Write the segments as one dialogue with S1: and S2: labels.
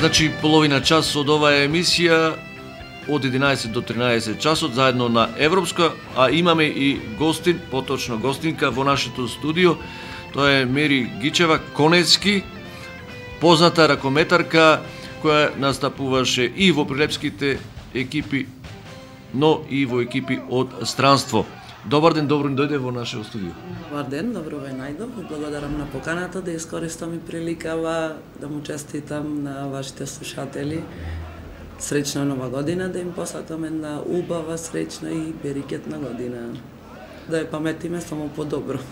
S1: Значи, половина час од оваа емисија од 11 до 13 часот заедно на Европска, а имаме и гостин, поточно гостинка во нашето студио. Тоа е Мери Гичева Конецки, позната ракометарка која настапуваше и во прилепските екипи, но и во екипи од странство. Добар ден, добро ни дојде во нашето студио.
S2: Добар ден, добро ве најдов. Благодарам на поканата да искористам и приликава да му честитам на вашите слушатели. Среќна нова година, да им посакам една убава, среќна и берикетна година. Да ја паметиме само по-добро.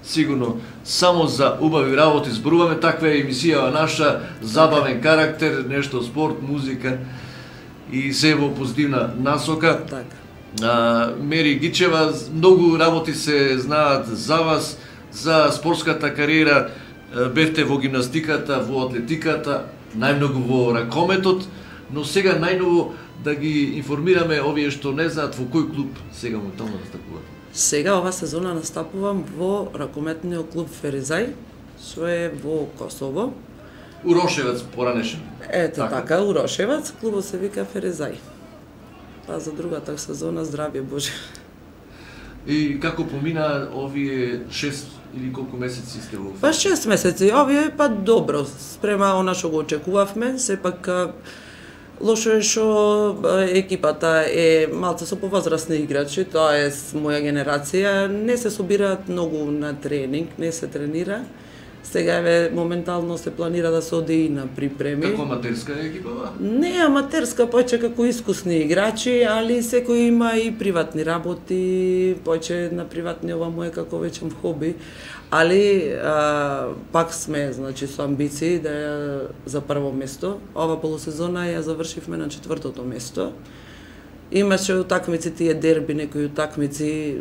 S1: Сигурно, само за убави работи зборуваме, таква е емисија наша, забавен карактер, нешто спорт, музика и се во позитивна насока.
S2: Така.
S1: Мери Гичева, многу работи се знаат за вас, за спортската кариера, бевте во гимнастиката, во атлетиката, најмногу во ракометот, но сега најново да ги информираме овие што не знаат во кој клуб сега му таму настапувате.
S2: Сега ова сезона настапувам во ракометниот клуб Феризај, што е во Косово.
S1: Урошевец поранешен.
S2: Ете така, Урошевец, клубот се вика Феризај. Па за другата сезона здравје Боже.
S1: И како помина овие 6 или колку месеци сте во?
S2: Па 6 месеци, овие па добро, спрема она што го очекувавме, сепак лошо е што екипата е малце со повозрасни играчи, тоа е моја генерација, не се собираат многу на тренинг, не се тренира. Сега еве моментално се планира да се оди и на припреми.
S1: Како аматерска екипа?
S2: Не аматерска, повеќе како искусни играчи, али секој има и приватни работи, повеќе на приватни ова му е како вечен хоби. Али пак сме, значи, со амбиции да ја за прво место. Ова полусезона ја завршивме на 4-то место. Имаше утакмици тие дерби, некои утакмици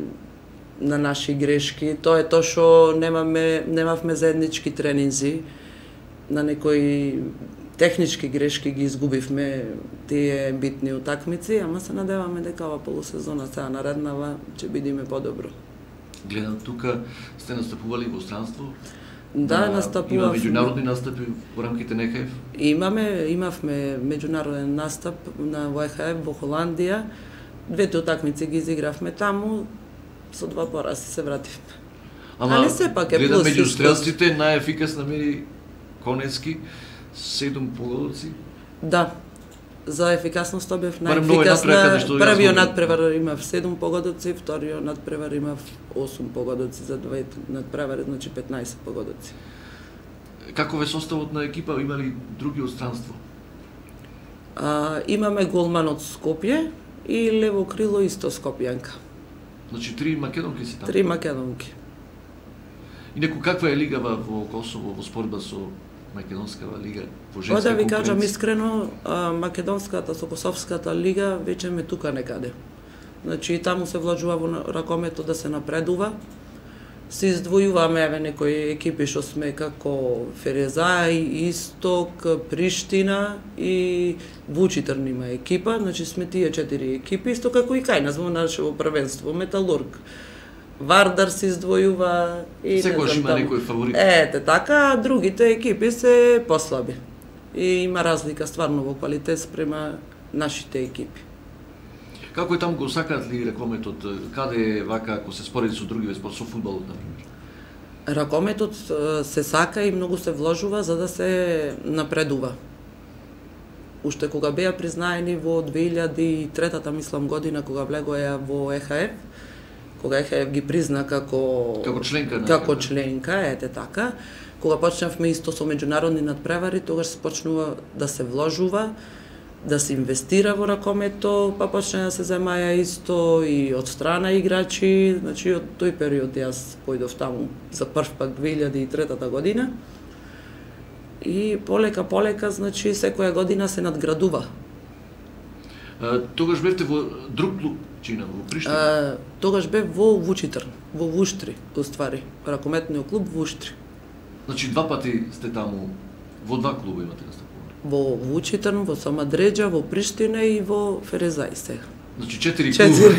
S2: на наши грешки. Тоа е тоа што немавме заеднички тренинзи, на некои технички грешки ги изгубивме тие битни утакмици, ама се надеваме дека ова полусезона сега нареднава ќе бидеме подобро.
S1: Гледам тука сте настапували во странство?
S2: Да, настапував.
S1: Има меѓународни настапи во рамките на ЕХФ?
S2: Имавме меѓународен настап во ЕХФ во Холандија. Двете утакмици ги изигравме таму, со 2 порази се вративме. Али сепак е плюс.
S1: Гледам меѓу стрелците најефикасна Мери Конецки, 7 погодоци.
S2: Да. За ефикасноста бев најефикасна. Првиот надпревар имав 7 погодоци, вториот надпревар имав 8 погодоци, за двете надпревари, значи 15 погодоци.
S1: Како е составот на екипа, има ли други од странство?
S2: Имаме голман од Скопје и лево крило исто Скопјанка.
S1: Значи 3 македонки си таму?
S2: 3 македонки.
S1: И некој каква е лигава во Косово во споредба со македонскава лига во женска
S2: конкуренција? Да ви кажам
S1: конкуренција?
S2: искрено, македонската со косовската лига веќе ме тука некаде. Значи таму се вложува во ракометот да се напредува. Се издвојуваме еве некои екипи што сме како Ферезај, Исток, Приштина и Вучитрн има екипа, значи сме тие 4 екипи, исто како и кај нас во нашето првенство, Металург. Вардар се издвојува и
S1: секојаш има некој фаворит.
S2: Ете така, другите екипи се послаби. И има разлика стварно во квалитет спрема нашите екипи.
S1: Како е таму, го сакаат ли ракометот? Каде е вака, ако се спореди со други спорт, со фудбалот, например?
S2: Ракометот се сака и многу се вложува за да се напредува. Уште кога беа признаени во 2003-та, мислам, година, кога влегоја во ЕХФ, кога ЕХФ ги призна како членка, ете така, кога почнавме исто со меѓународни надпревари, тогаш се почнува да се вложува, да се инвестира во ракомето, па почна да се земаја исто и од страна играчи, значи од тој период јас појдов таму за прв пат 2003 година. И полека, значи секоја година се надградува.
S1: Тогаш бевте во друг клуб, чина, во Приштина?
S2: Тогаш бев во Вучитрн, во Вуштри, уствари, ракометниот клуб Вуштри.
S1: Значи 2 пати сте таму, во 2 клуба имате настапуване?
S2: Во Вучитрн, во Самадреџа, во Приштина и во Ферезај сега.
S1: Значи 4 клуба.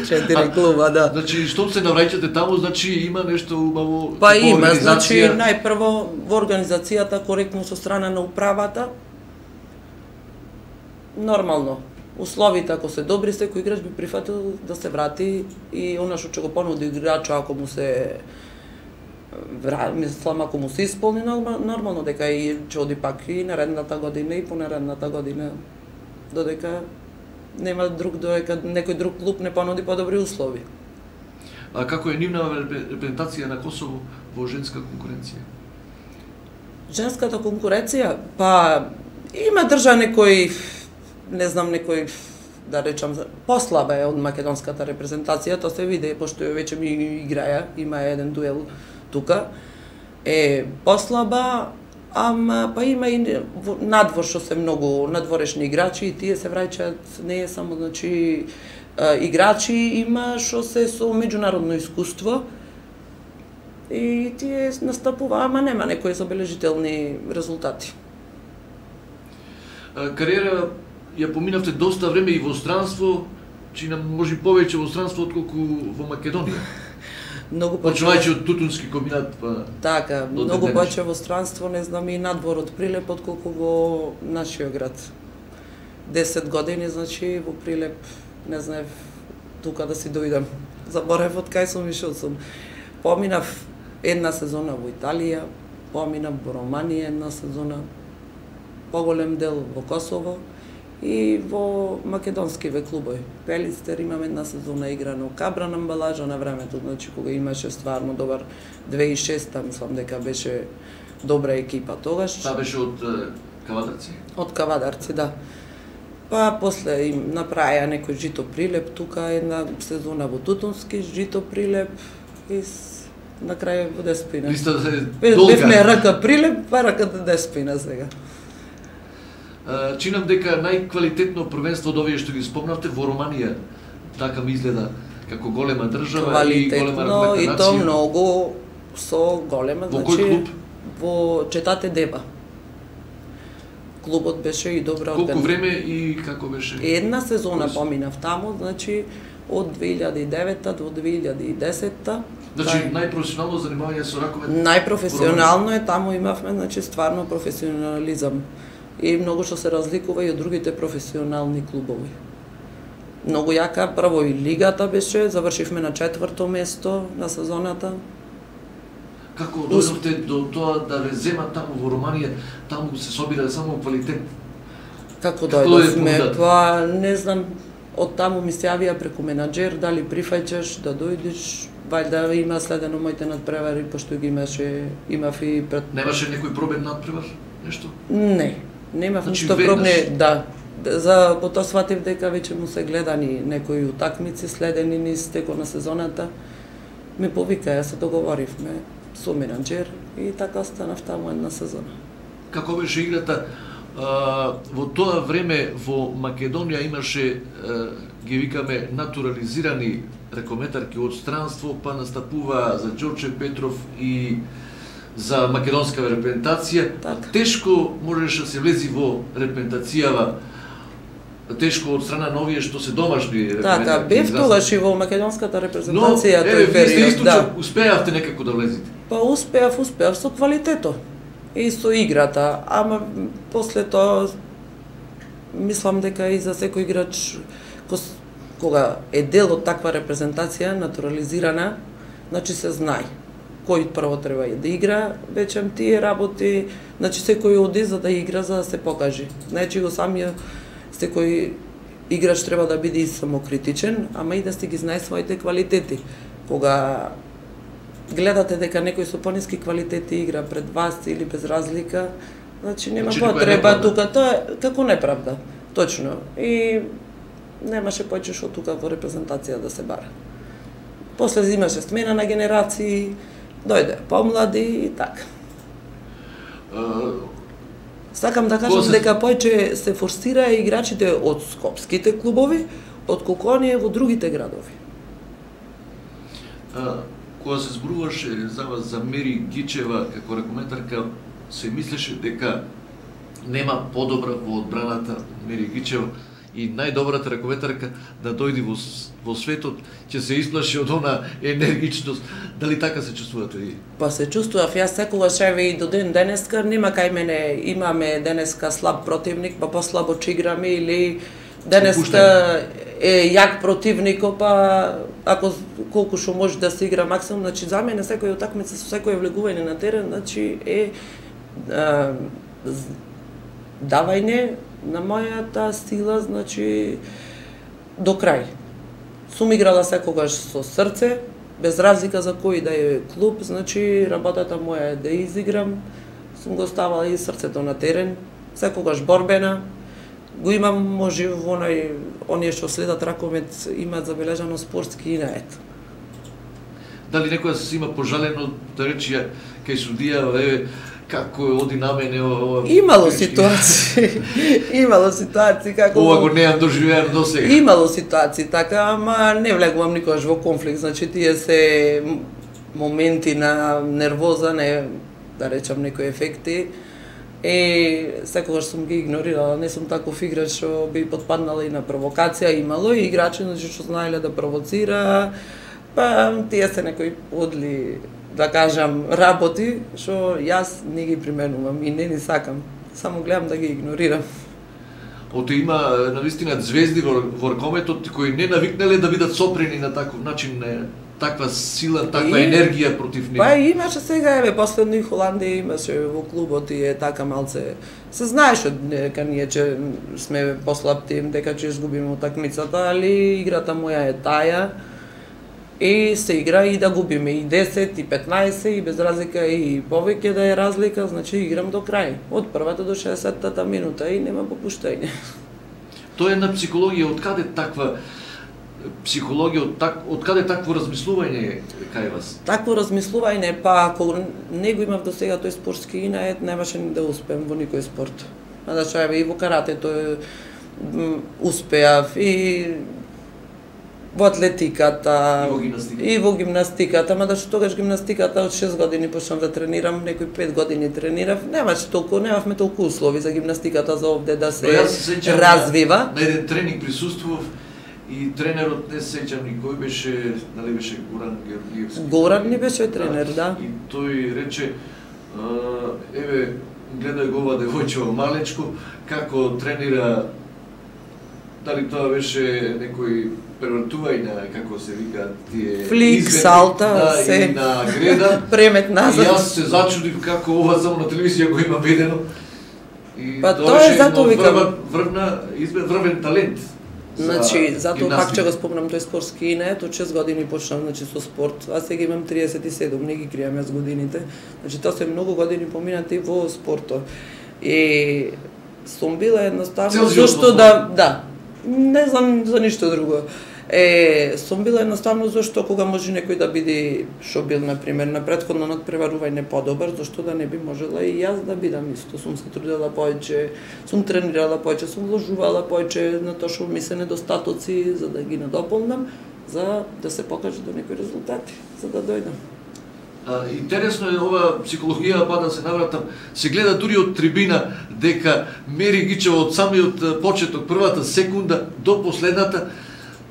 S2: 4 клуба, да.
S1: Значи штом се навраќате таму, значи има нешто убаво.
S2: Па има, значи најпрво во организацијата коректно со страна на управата, нормално. Условите ако се добри, секој играч би прифатил да се врати и она што ќе го понуди играчот ако му се мислам ако му се исполни нормално дека и ќе оди пак и наредната година и понаредната година додека нема друг додека некој друг клуб не понуди подобри услови.
S1: А како е нивна репрезентација на Косово во женска конкуренција?
S2: Женската конкуренција, па има држа некој, не знам, некој, да речам, послаба е од македонската репрезентација, тоа се види, пошто веќе ми играја, има еден дуел тука, е послаба, ама па има и надвор што се многу надворешни играчи и тие се враќаат, не е само, значи, играчи, има што се со меѓународно искуство, и тие настапува, ама нема некои забележителни резултати.
S1: Кариера ја поминавте доста време и во странство, чи нам може повеќе во странство отколку во Македонија.
S2: Многу
S1: почнувајќи од Тутунски комбинат, па
S2: така, многу повеќе во странство, не знам, и надвор од Прилеп отколку во нашиот град. 10 години, значи, во Прилеп, не знаев тука да си дојдам. Заборев од кај сум ишол сум. Поминав една сезона во Италија, поминав во Романија една сезона, поголем дел во Косово и во македонскиве клубови. Пелистер имам една сезона играно, Кабран Амбалажа на времето, значи кога имаше стварно добар 2006-та, мислам дека беше добра екипа тогаш.
S1: Та беше од Кавадарци?
S2: Од Кавадарци, да. Па после им направија некој Жито Прилеп, тука една сезона во Тутунски, Жито Прилеп и на крај во Деспина.
S1: Листата е долга.
S2: Бевме рака Прилеп, па раката Деспина сега.
S1: Чинам дека најквалитетно првенство од овие што ги спомнавте во Романија, така ми изгледа, како голема држава и голема ракометна нација.
S2: И то многу со голема,
S1: во кој клуб?
S2: Во Четате Деба. Клубот беше и добра
S1: Колку време и како беше?
S2: Една сезона поминав таму, значи од 2009 до 2010.
S1: Значи најпрофесионално занимавање со раковет?
S2: Најпрофесионално е, таму имавме, значи стварно професионализам. И многу што се разликува и од другите професионални клубови. Многу јака, прво и лигата беше, завршивме на 4-то место на сезоната.
S1: Како дојдовте до тоа да ве земат таму во Романија, таму се собира само квалитет?
S2: Како дојдовме? Па не знам, од таму ми се јавија преку менаџер, дали прифаќаш да дојдеш, вајда има следено моите надпревари, пошто ги имав и пред...
S1: Немаше некој пробен надпревар, нешто?
S2: Не, немав ништо пробне, да. За потоа сватив дека веќе му се гледани некои утакмици, следени низ текот на сезоната. Ме повика, ја се договоривме со менаџер и така останав таму една сезона.
S1: Како беше играта? Во тоа време во Македонија имаше, ги викаме, натурализирани ракометарки од странство, па настапува за Ѓорче Петров и за македонска репрезентација.
S2: Так.
S1: Тешко можеше да се влези во репрезентацијава, тешко од страна на овие што се домашни репрезентатори.
S2: Така, бев тогаш и во македонската репрезентација тој период.
S1: Вие сте исто успеавте некако да влезете?
S2: Па успеав со квалитето и со играта, ама после тоа мислам дека и за секој играч кога е дел од таква репрезентација натурализирана, значи се знае кој прво треба да игра, веќе тие работи, значи секој оди за да игра, за да се покажи. Значи го самиот секој играч треба да биде и самокритичен, ама и да си ги знае своите квалитети. Кога гледате дека некој со пониски квалитети игра пред вас или без разлика, значи нема потреба тука, тоа е како неправда, точно. И немаше повеќе што тука во репрезентација да се бара. После имаше смена на генерации, дојде помлади и така. Сакам да кажам дека повеќе се форсира играчите од скопските клубови, отколку оние во другите градови.
S1: Кога се зборуваше за вас за Мери Гичева како ракометарка, се мислеше дека нема подобра во одбраната Мери Гичева и најдобрата раковетарка да дојде во светот, ќе се исплаши од она енергичност. Дали така се чувствувате и?
S2: Па се чувствував, јас секогаш еве и до ден денеска, нема кај мене имаме денеска слаб противник, па послабо че играме или денеска е јак противник, па ако колку што може да се игра максимум, значи за мене секој утакмица со секој влегување на терен, значи е давање на мојата сила, значи до крај. Сум играла секогаш со срце, без разлика за кој да е клуб, значи работата моја е да изиграм, сум го ставала и срцето на терен, секогаш борбена. Го имам, може, во оние што следат ракомет имаат забележано спортски инает.
S1: Дали некоја се има пожалено да рече кај судија, еве, како оди на мене ова...
S2: Имало ситуации како...
S1: Ова го неам доживеано до сега.
S2: Имало ситуации така, ама не влегувам никогаш во конфликт, значи тие се моменти на нервоза, не да речам некои ефекти. Секогаш сум ги игнорирала, не сум таков играч што би потпаднала и на провокација, имало и играчи значи што знаеле да провоцира, па тие се некои подли, да кажам, работи што јас не ги применувам и не ни сакам, само гледам да ги игнорирам.
S1: Ото има навистина звезди во ракометот кои не навикнале да бидат сопрени на таков начин, таква сила, таква енергија против нив.
S2: Па имаше сега, еве, последно и Холандија имаше во клубот и е така малце. Се знаеше дека ние че сме послаб тим, дека ќе изгубиме утакмицата, али играта моја е таја. И се игра и да губиме и 10, и 15, и без разлика и повеќе да е разлика, значи играм до крај. Од првата до 60-та минута и нема попуштање.
S1: Тоа е на психологија, од каде таква психологија, од каде такво размислување кај вас?
S2: Такво размислување, па ако не го имав до сега тој спортски инает, немаше ни да успеам во никој спорт. Значи, еве и во каратето успеав, и во атлетиката, и во гимнастиката, ама што тогаш гимнастиката од 6 години почнав да тренирам, некои 5 години тренирав, немавме толку услови за гимнастиката за овде да се развива.
S1: На еден тренинг присуствував и тренерот не се сеќам ни кој беше, дали беше Горан Георгиевски.
S2: Горан ни беше тренер, да.
S1: И тој рече, еве, гледај го ова девојче малечко, како тренира, дали тоа беше некој превртување, како се вика, тие
S2: флик, салта, се
S1: на греда.
S2: Премет назад.
S1: И јас се зачудив како ова само на телевизија го има видено. И
S2: па тоа е затоа викам
S1: врвен талент.
S2: Значи, затоа пак ќе го спомнам тој спортски инает, од 6 години почнав значи со спорт. Аз сега имам 37, не ги кријам јас годините. Значи тоа се многу години поминати во спортот. И сум била едноставно зашто да, не знам за ништо друго. Сум била едноставно зашто кога може некој да биде што бил на пример на претходно надпреварување подобар, зашто да не би можела и јас да бидам исто. Сум се трудела повеќе, сум тренирала повеќе, сум вложувала повеќе на тоа што ми се недостатоци за да ги надополнам, за да се покаже до некои резултати, за да дојдам.
S1: Интересно е ова психологија, па да се навратам, се гледа дури од трибина дека Мери Гичева од самиот почеток, првата секунда до последната,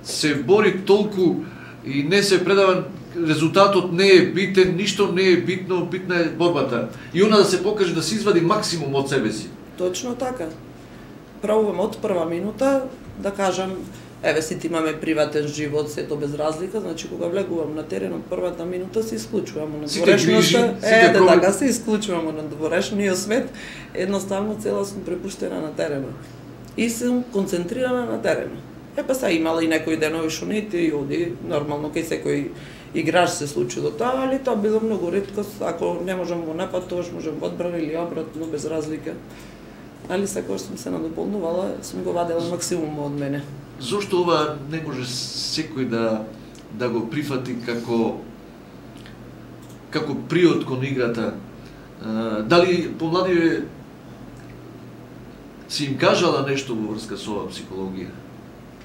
S1: се бори толку и не се предава, резултатот не е битен, ништо не е битно, битна е борбата. И она да се покаже да се извади максимум од себе си.
S2: Точно така. Пробувам од прва минута да кажам, еве сите имаме приватен живот, сето без разлика, значи кога влегувам на терен од првата минута се исклучувам од надворешноста, така се исклучувам од надворешниот свет, едноставно цела сум препуштена на теренот. И сум концентрирана на теренот. Па са имала и некои денови што не и оди, нормално кај секој играч се случило тоа, али тоа било многу реткост, ако не можам во напад, тоа можам во одбрана или обратно, без разлика. Али секој сум се надополнувала, сум го вадела максимум од мене.
S1: Зошто ова не може секој да го прифати како приод кон играта? Дали помладиве си им кажала нешто во врска со ова психологија?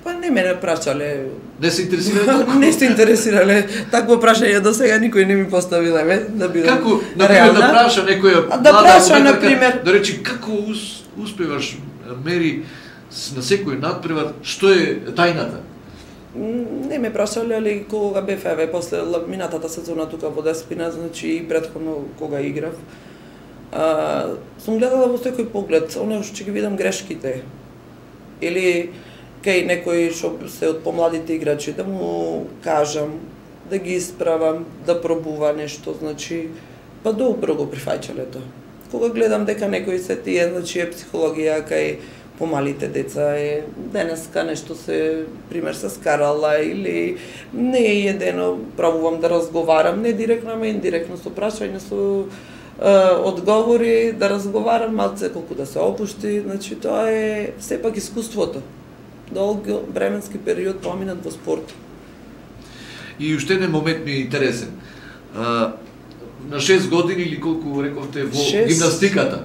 S2: Па не мене прашале.
S1: Не се интересирале толку?
S2: Не се интересирале. Такво прашање до сега никој не ми поставиле, да бидам реална.
S1: Како, например, да праша некоја
S2: млада ракометарка,
S1: да речи како успеваш, Мери, на секој надпревар, што е тајната?
S2: Не ме прашале, али кога бев, еве, после минатата сезона тука во Деспина, значи и претходно кога играв, сум гледала во секој поглед, оно што ќе ги видам грешките. Или кај некој што се од помладите играчи, да му кажам, да ги исправам, да пробува нешто, значи, па добро го прифаќале тоа. Кога гледам дека некој се тие, значи е психологија кај помалите деца е денеска нешто се, пример, се скарала или не е едено, пробувам да разговарам, не директно, ама индиректно, со прашање, со одговори, да разговарам малце колку да се опушти, значи тоа е сепак искуството. Долг временски период поминат во спорт.
S1: И уште еден момент ми е интересен. На 6 години или колку рековте во гимнастиката,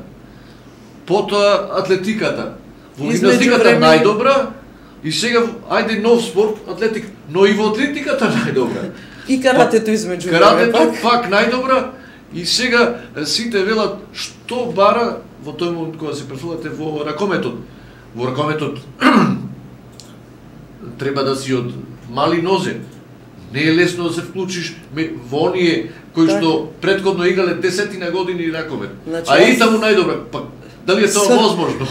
S1: потоа атлетиката. Во гимнастиката најдобра и сега ајде нов спорт, атлетика, но и во атлетиката најдобра.
S2: И каратето измеѓу
S1: каратето пак најдобра и сега сите велат што бара во тој момент кога се префрлате во ракометот. Во ракометот треба да си од мали нозе. Не е лесно да се вклучиш во оние кои што претходно играле 10 години ракомет. Значи, а и таму најдобра. Па дали е тоа возможно?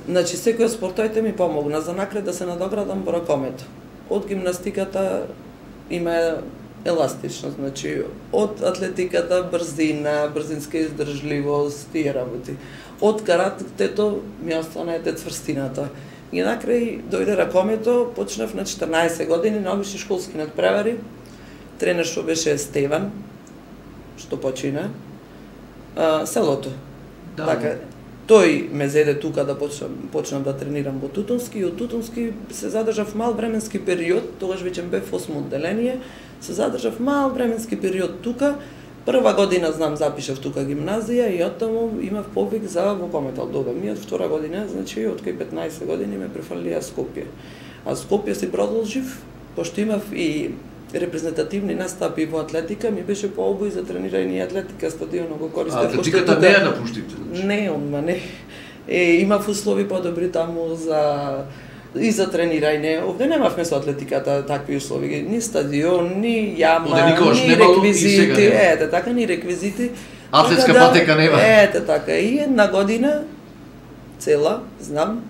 S2: Значи, секој од спортовите ми помогна за накрај да се надоградам во ракомет. Од гимнастиката има еластичност, значи од атлетиката брзина, брзинска издржливост, тие работи. Од каратето ми остана цврстината. И накрај дојде ракомето, почнав на 14 години на обични школски надпревари. Тренер што беше Стеван, што почина, селото. Да. Така, тој ме зеде тука да почнам да тренирам во Тутунски и од Тутунски се задржав мал временски период, тогаш веќе бев 8 одделение, се задржав мал временски период тука. Прва година знам запишав тука гимназија и оттаму имав повик за во Кометал добам. И од втора година, значи од кај 15 години ме префрлија Скопје. А Скопје си продолжив, пошто имав и репрезентативни настапи во атлетика, ми беше пообој за тренирање и атлетика, стадионот го користев.
S1: А атлетиката не ја напуштите?
S2: Не, онма не. Имав услови подобри таму и за тренирање. Овде немавме со атлетиката такви услови, ни стадион, ни јама, ни реквизити, ете така, ни реквизити.
S1: Атлетска патека нема.
S2: Ете така, и една година цела, знам,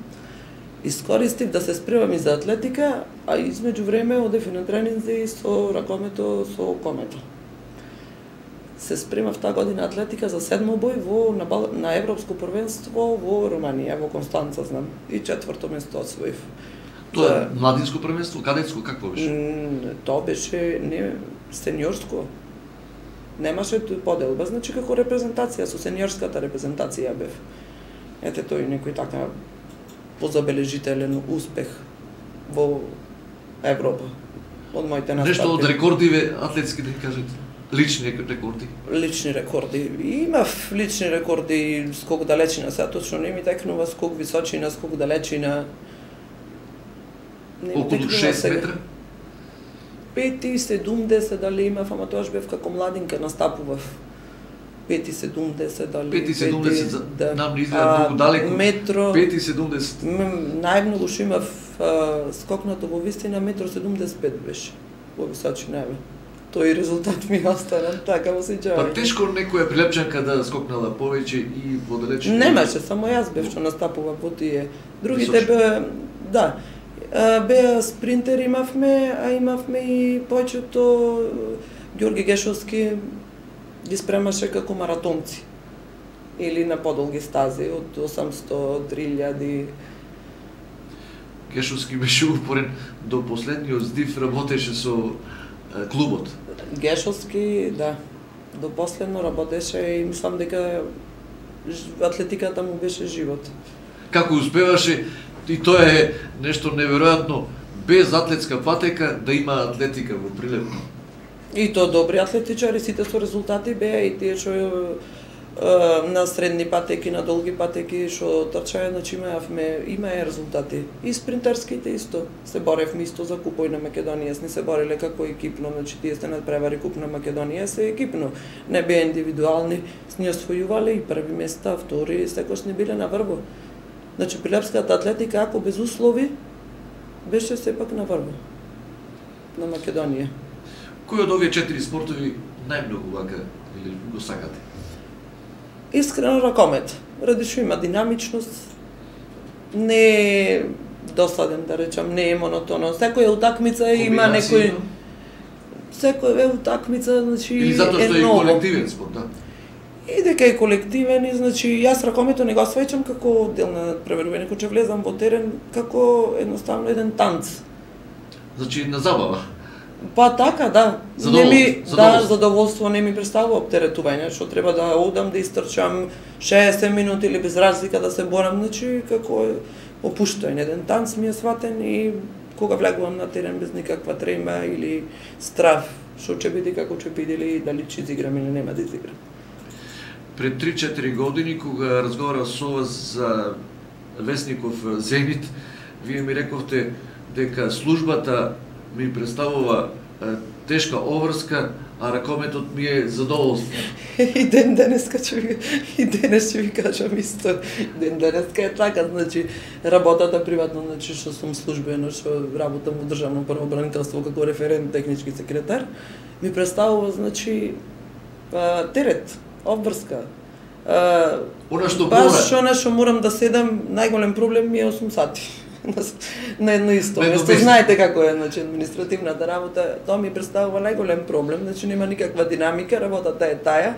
S2: искористив да се спремам и за атлетика, а измеѓу време одев и на тренинзи со ракомето, со комето. Се спремав таа година атлетика за седмобој на Европско првенство во Руманија, во Констанца, знам, и 4-то место освоив.
S1: Тоа е младинско првенство, кадетско, какво беше?
S2: Тоа беше не сениорско. Немаше поделба, значи како репрезентација, со сениорската репрезентација бев. Ете тој некој така позабележителен успех во Европа од моите настапи.
S1: Нешто од рекордиве атлетски да кажете? Лични рекорди? Лични
S2: рекорди. Имав лични рекорди, скок далечина, сега точно не ми текнува скок височина, скок далечина.
S1: Околу 6 метра?
S2: 5,70 дали имав, ама тоаш бев како младинка, настапував. 5,70 дали...
S1: 5,70 да. Нам не изгледа многу далеко.
S2: Метро...
S1: 5,70.
S2: Најмногу што имав скокнато во вистина, 1,75 беше во височина. Тој резултат ми остана, така во сеќавање.
S1: Па тешко некоја прилепчанка да скокнала повеќе и во далечина?
S2: Немаше, само јас бев што настапував во тие. Другите беа, да, беа спринтер имавме, а имавме и повеќето Ѓорги Гешовски ги спремаше како маратонци. Или на подолги стази, од 800, 3000.
S1: Гешовски беше упорен, до последниот здив работеше со клубот.
S2: Гешовски, да, до последно работеше и мислам дека атлетиката му беше живот.
S1: Како успеваше, и тоа е нешто неверојатно, без атлетска патека да има атлетика во Прилеп.
S2: И тоа добри атлетичари, сите со резултати беа и тие што на средни патеки, на долги патеки што трчаја, значи имаа резултати. И спринтерските исто. Се боревме исто за купој на Македонија, сни се бореле како екипно, значи тие сте надпревари куп на Македонија се екипно. Не беа индивидуални, сни освојувале и први места, втори, секош не биле на врво. Значи, прилепската атлетика, ако без услови, беше сепак на врво на Македонија.
S1: Кој од овие 4 спортови најмногу вака или го сакате?
S2: Искрено ракомет. Ради што има динамичност, не е досаден, да речам, не е монотонно. Секоја утакмица има некој... Секоја утакмица, значи,
S1: или затоа што е колективен спорт, да?
S2: И дека е колективен, и значи јас ракомето не го свеќам како дел на надпреварување, кога ќе влезам во терен како едноставно еден танц.
S1: Значи на забава.
S2: Па така, да.
S1: Задоволство.
S2: Задоволство не ми представува оптеретување, што треба да одам да истрчам 60 минути или без разлика да се борам, значи како е опуштање, еден танц ми е сватен и кога влегувам на терен без никаква трема или страв, што ќе биде, како ќе биде, или дали ќе изиграм или нема да изиграм.
S1: Пред 3-4 години, кога разговарав со вас за вестников Зенит, вие ми рековте дека службата ми представува тешка обврска, а ракометот ми е задоволство.
S2: И денеска ќе ви кажам исто. Денеска е така, значи работата приватно, значи што сум службено, што работам во државно правобранителство како референт технички секретар, ми представува, значи, терет, обврска. Баш она што морам да седам, најголем проблем ми е 8 сати на едно исто место. Знаете како е, значи, административната работа, тоа ми представува најголем проблем, значи нема никаква динамика, работата е таа,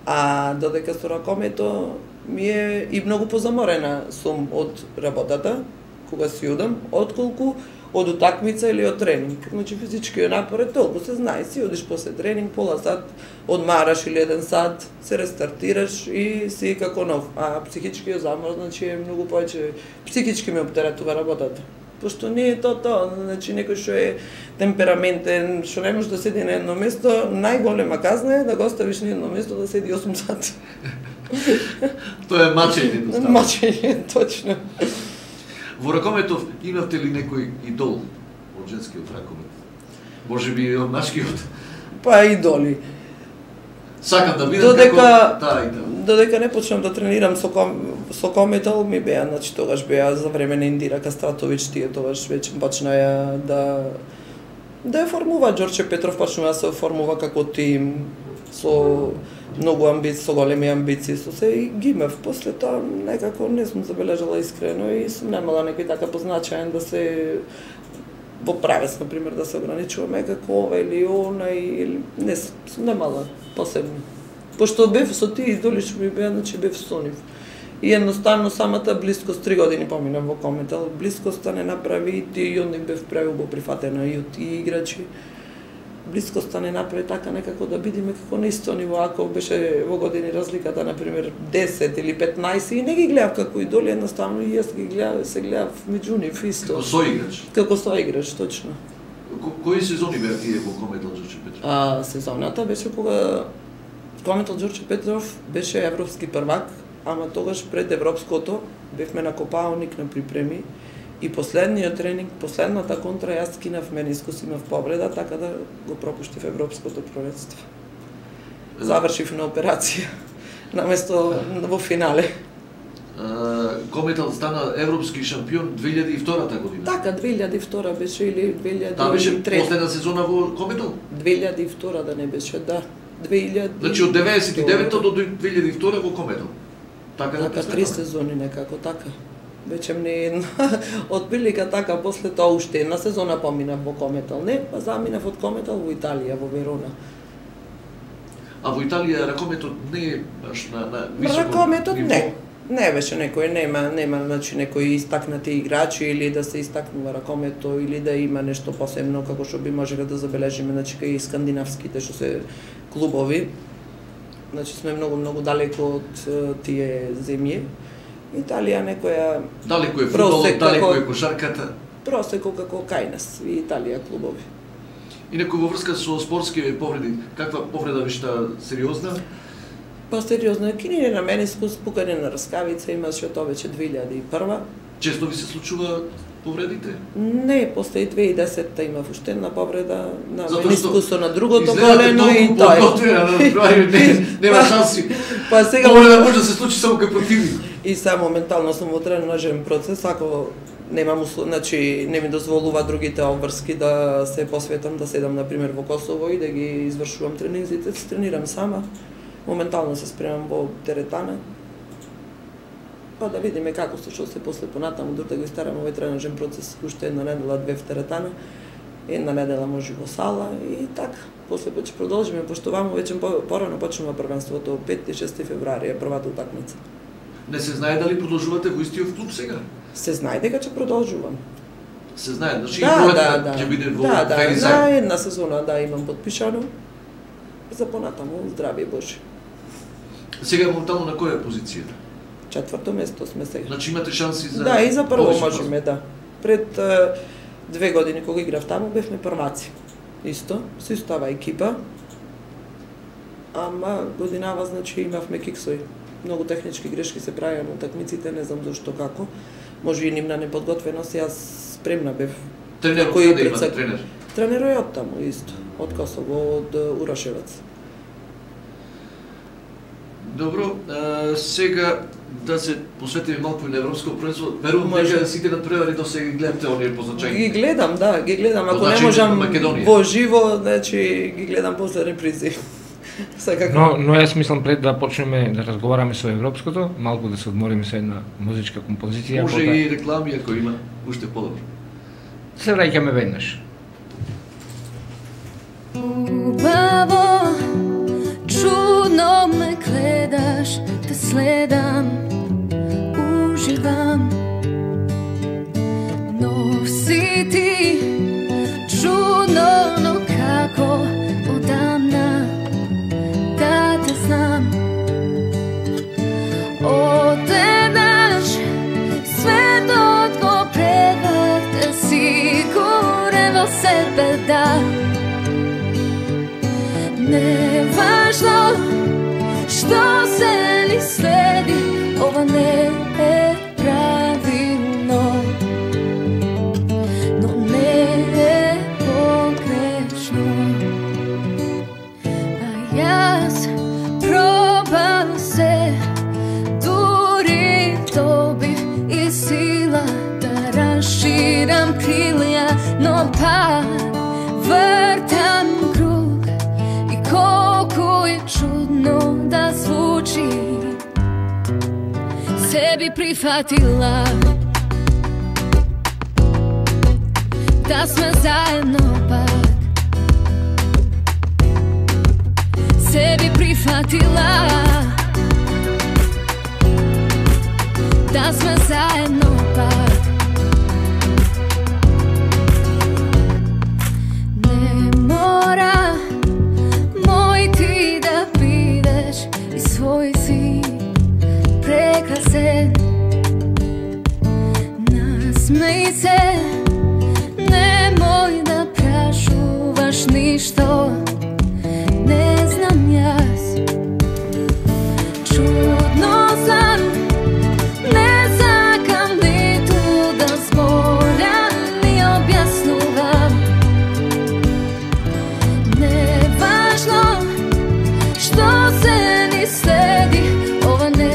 S2: а додека со ракомето ми е и многу позаморена сум од работата, кога си одам, отколку од утакмица или од тренинг. Значи физичкиот напор е толку, се знае, си одиш после тренинг, пола сат, одмараш или 1 сат, се рестартираш и си како нов. А психичкиот замор, значи е многу повеќе, психички ме оптеретува работата. Пошто не е тоа, значи некој што е темпераментен, што не може да седи на едно место, најголема казна е да го оставиш на едно место да седи 8 сат.
S1: Тоа е мачење.
S2: Мачење, точно.
S1: Во ракометов имавте ли некој идол од женскиот ракомет? Може би од машкиот?
S2: Па идоли.
S1: Сакам да видам како таа и таа.
S2: Додека не почнам да тренирам со кометал, ми беа, значи тогаш беа за време на Индира Кастратовиќ, тие тогаш веќе почнаја да ја формува. Ѓорче Петров почнува да се формува како тим, со многу амбиции, со големи амбиции, со се и ги имав. После тоа некако не сум забележала искрено и сум немала некој така позначаен да се во правец, например, да се ограничуваме како ова или она, или не сум немала посебно. Пошто бев со тие идоли што ми беа, значи бев со нив. И едноставно самата блискост, 3 години поминав во кометал, блискоста не направи и тие и од нив бев преубо прифатена и од тие играчи. Блискоста не направи така некако да бидеме како на исто ниво, ако беше во години разликата, например, 10 или 15, и не ги гледав како идоли, едноставно и јас ги гледав, се гледав меѓу нив исто.
S1: Како соиграч?
S2: Како соиграч, точно.
S1: Кои сезони беа тие во кометал Ѓорче Петров?
S2: Сезоната беше кога кометал Ѓорче Петров беше европски првак, ама тогаш пред европското бевме на Копаоник на припреми. И последниот тренинг, последната контра, јас скинав менискус, имав повреда, така да го пропуштив европското првенство. Завршив на операција, наместо во финале.
S1: Кометал стана европски шампион 2002 година.
S2: Така, 2002 беше или 2003.
S1: Таа беше последна сезона во Кометал?
S2: 2002 да не беше, да. 2000...
S1: Значи од 99 до 2002 во Кометал. Така
S2: 3 сезони некако, така. Веќе не една, од прилика така, после тоа уште една сезона поминав во Кометал, не, па заминав од Кометал во Италија, во Верона.
S1: А во Италија ракометот не е баш на високо
S2: ракометот
S1: ниво?
S2: Не беше некој, нема значи некои истакнати играчи или да се истакнува ракомето или да има нешто посебно како што би можеле да забележиме, значи кај скандинавските што се клубови. Значи сме многу далеко од тие земји. Италија некоја
S1: далеко е фудбалот, далеко е кошарката.
S2: Просеко како кај нас и Италија клубови.
S1: Инаку во врска со спортски повреди, каква повреда вишта сериозна?
S2: Па сериозно, кинење на менискус, пукање на раскавица, имаше тоа веќе 2001.
S1: Често ви се случува повредите?
S2: Не, после 2010-та имав уште една повреда на менискусо на другото колено и тоа.
S1: Нема шанси.
S2: Па сега
S1: повреда може да се случи само кај противник.
S2: И сега моментално сум во тренажен процес, ако немам значи не ми дозволува другите обврски да се посветам, да седам на пример во Косово и да ги извршувам тренинзите, се тренирам сама. Моментално се спремам во теретана. Па да видиме како што се после понатаму, да го истарам овој тренажен процес, уште една недела, две в теретана, една недела може во сала и така. После ќе продолжиме, пошто ваму веќе порано почнува првенството, 5 и 6 февруари е првата утакмица.
S1: Не се знае дали продолжувате во истиот клуб сега?
S2: Се знае дека ќе продолжувам.
S1: Се знае, значи проектот ќе биде во Феризај.
S2: Да, една сезона имам подпишано. За понатаму здравје Божи.
S1: Сега моментално на која позиција?
S2: 4-то место сме сега.
S1: Значи имате шанси за...
S2: Да, и за прво можеме, да. Пред 2 години кога играв таму бевме прваци. Исто, се става екипа. Ама годинава, значи, имавме киксои. Многу технички грешки се правеа на утакмиците, не знам зашто како. Може и нивна неподготвеност, јас спремна бев.
S1: Тренерот каде имате тренер?
S2: Тренерот е од таму, исто. Од Косово, од Урашевац.
S1: Добро, сега да се посветиме малку на европско првенство. Верувам дека сите надпревари до сега ги гледате оние позначајни.
S2: Ги гледам, да, ги гледам. Ако не можам во живо, значи ги гледам после репризи.
S3: Но јас мислам пред да почнеме да разговараме со европското, малку да се одмориме со една музичка композиција.
S1: Може и реклами ако има, уште подобро.
S3: Се враќаме веднаш.
S4: Убаво, чудно ме гледаш, те следам, уживам. Но си ти чудно, но како одамна да те знам. Одеднаш светот го преврте, сигурен во себе да. Не важно што се ни следи, ова не е правилно, но не е погрешно. А јас пробам се, дури добив и сила да расширам крилја, но пак вртам круг и колку е чудно да звучи. Sebi prihvatila da sme zajedno pak. Sebi prihvatila da sme zajedno pak. Ne mora moj ti da bideš i svoj si prekrasen. Nasmej se, nemoj da prašuvaš ništo, ne znam jas. Čudno sam, ne zakam ni tu da zbolja ni objasnuvam. Nevažno što se ni sledi, ova ne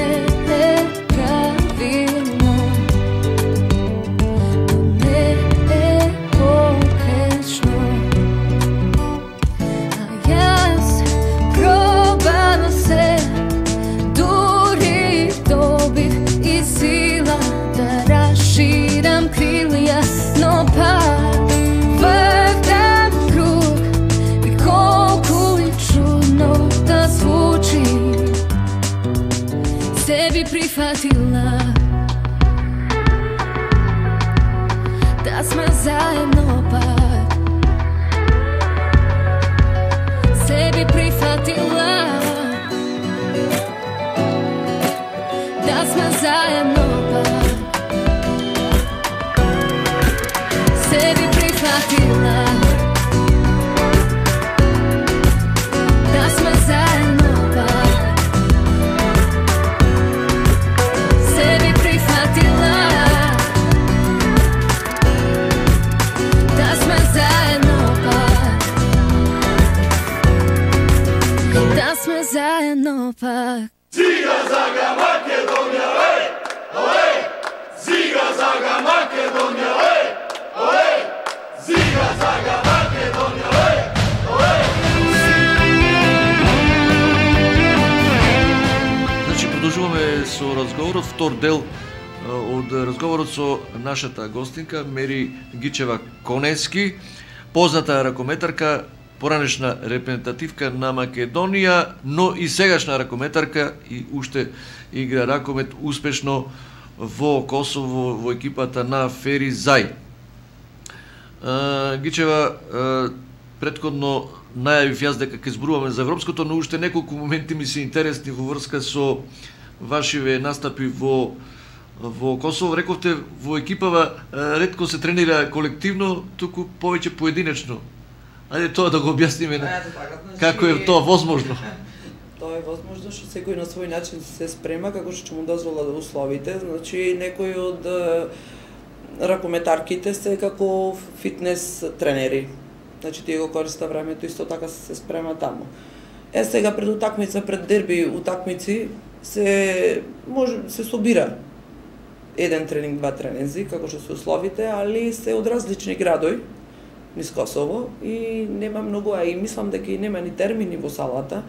S4: širam krilija, no pak vrtam krug i kolku je čudno da zvuči. Sebi prihvatila da sme zajedno pak. Sebi prihvatila da sme zajedno pak. Sebi prihvatila da sme zajedno pak. Sebi prihvatila da sme zajedno pak. Da sme zajedno pak.
S5: Ziga, zaga, Makedonija, hej!
S1: разговорот, втор дел од разговорот со нашата гостинка Мери Гичева-Конески, позната ракометарка, поранешна репрезентативка на Македонија, но и сегашна ракометарка и уште игра ракомет успешно во Косово во екипата на Фери Зај. Гичева, претходно најавив јас дека ќе зборуваме за европското, но уште неколку моменти ми се интересни во врска со вашиве настапи во Косово. Рековте во екипава ретко се тренира колективно, туку повеќе поединечно. Ајде тоа да го објасниме како е тоа возможно.
S2: Тоа е возможно што секој на свој начин се спрема како што му дозволат условите. Значи некои од ракометарките се како фитнес тренери. Значи тие го користат времето исто така се спрема таму. Сега пред утакмица, пред дерби утакмици се собира еден тренинг, два тренинзи, како што се условите, али се од различни градови низ Косово и нема многу, а и мислам дека и нема ни термини во салата.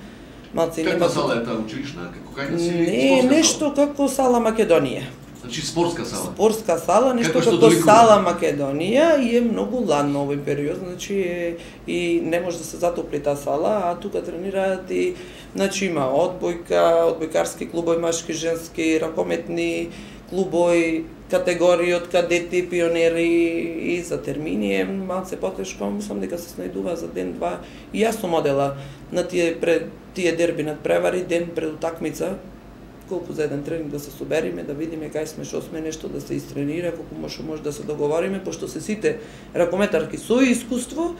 S1: Каква сала е таа училишна?
S2: Не, нешто како сала Македонија.
S1: Значи спортска сала.
S2: Спортска сала, нешто како сала Македонија и е многу ладно овој период, значи и не може да се затопли таа сала, а тука тренираат и значи има одбојка, одбојкарски клубови, машки, женски, ракометни клубови, категории од кадети, пионери и за термини е малце потешко, мислам дека се снајдува за ден-два. И јас сум одела на тие дерби надпревари, ден пред утакмица, колку за еден тренинг да се собериме, да видиме кај сме, што сме, нешто да се истренира, колку може да се договориме, пошто се сите ракометарки со искуство,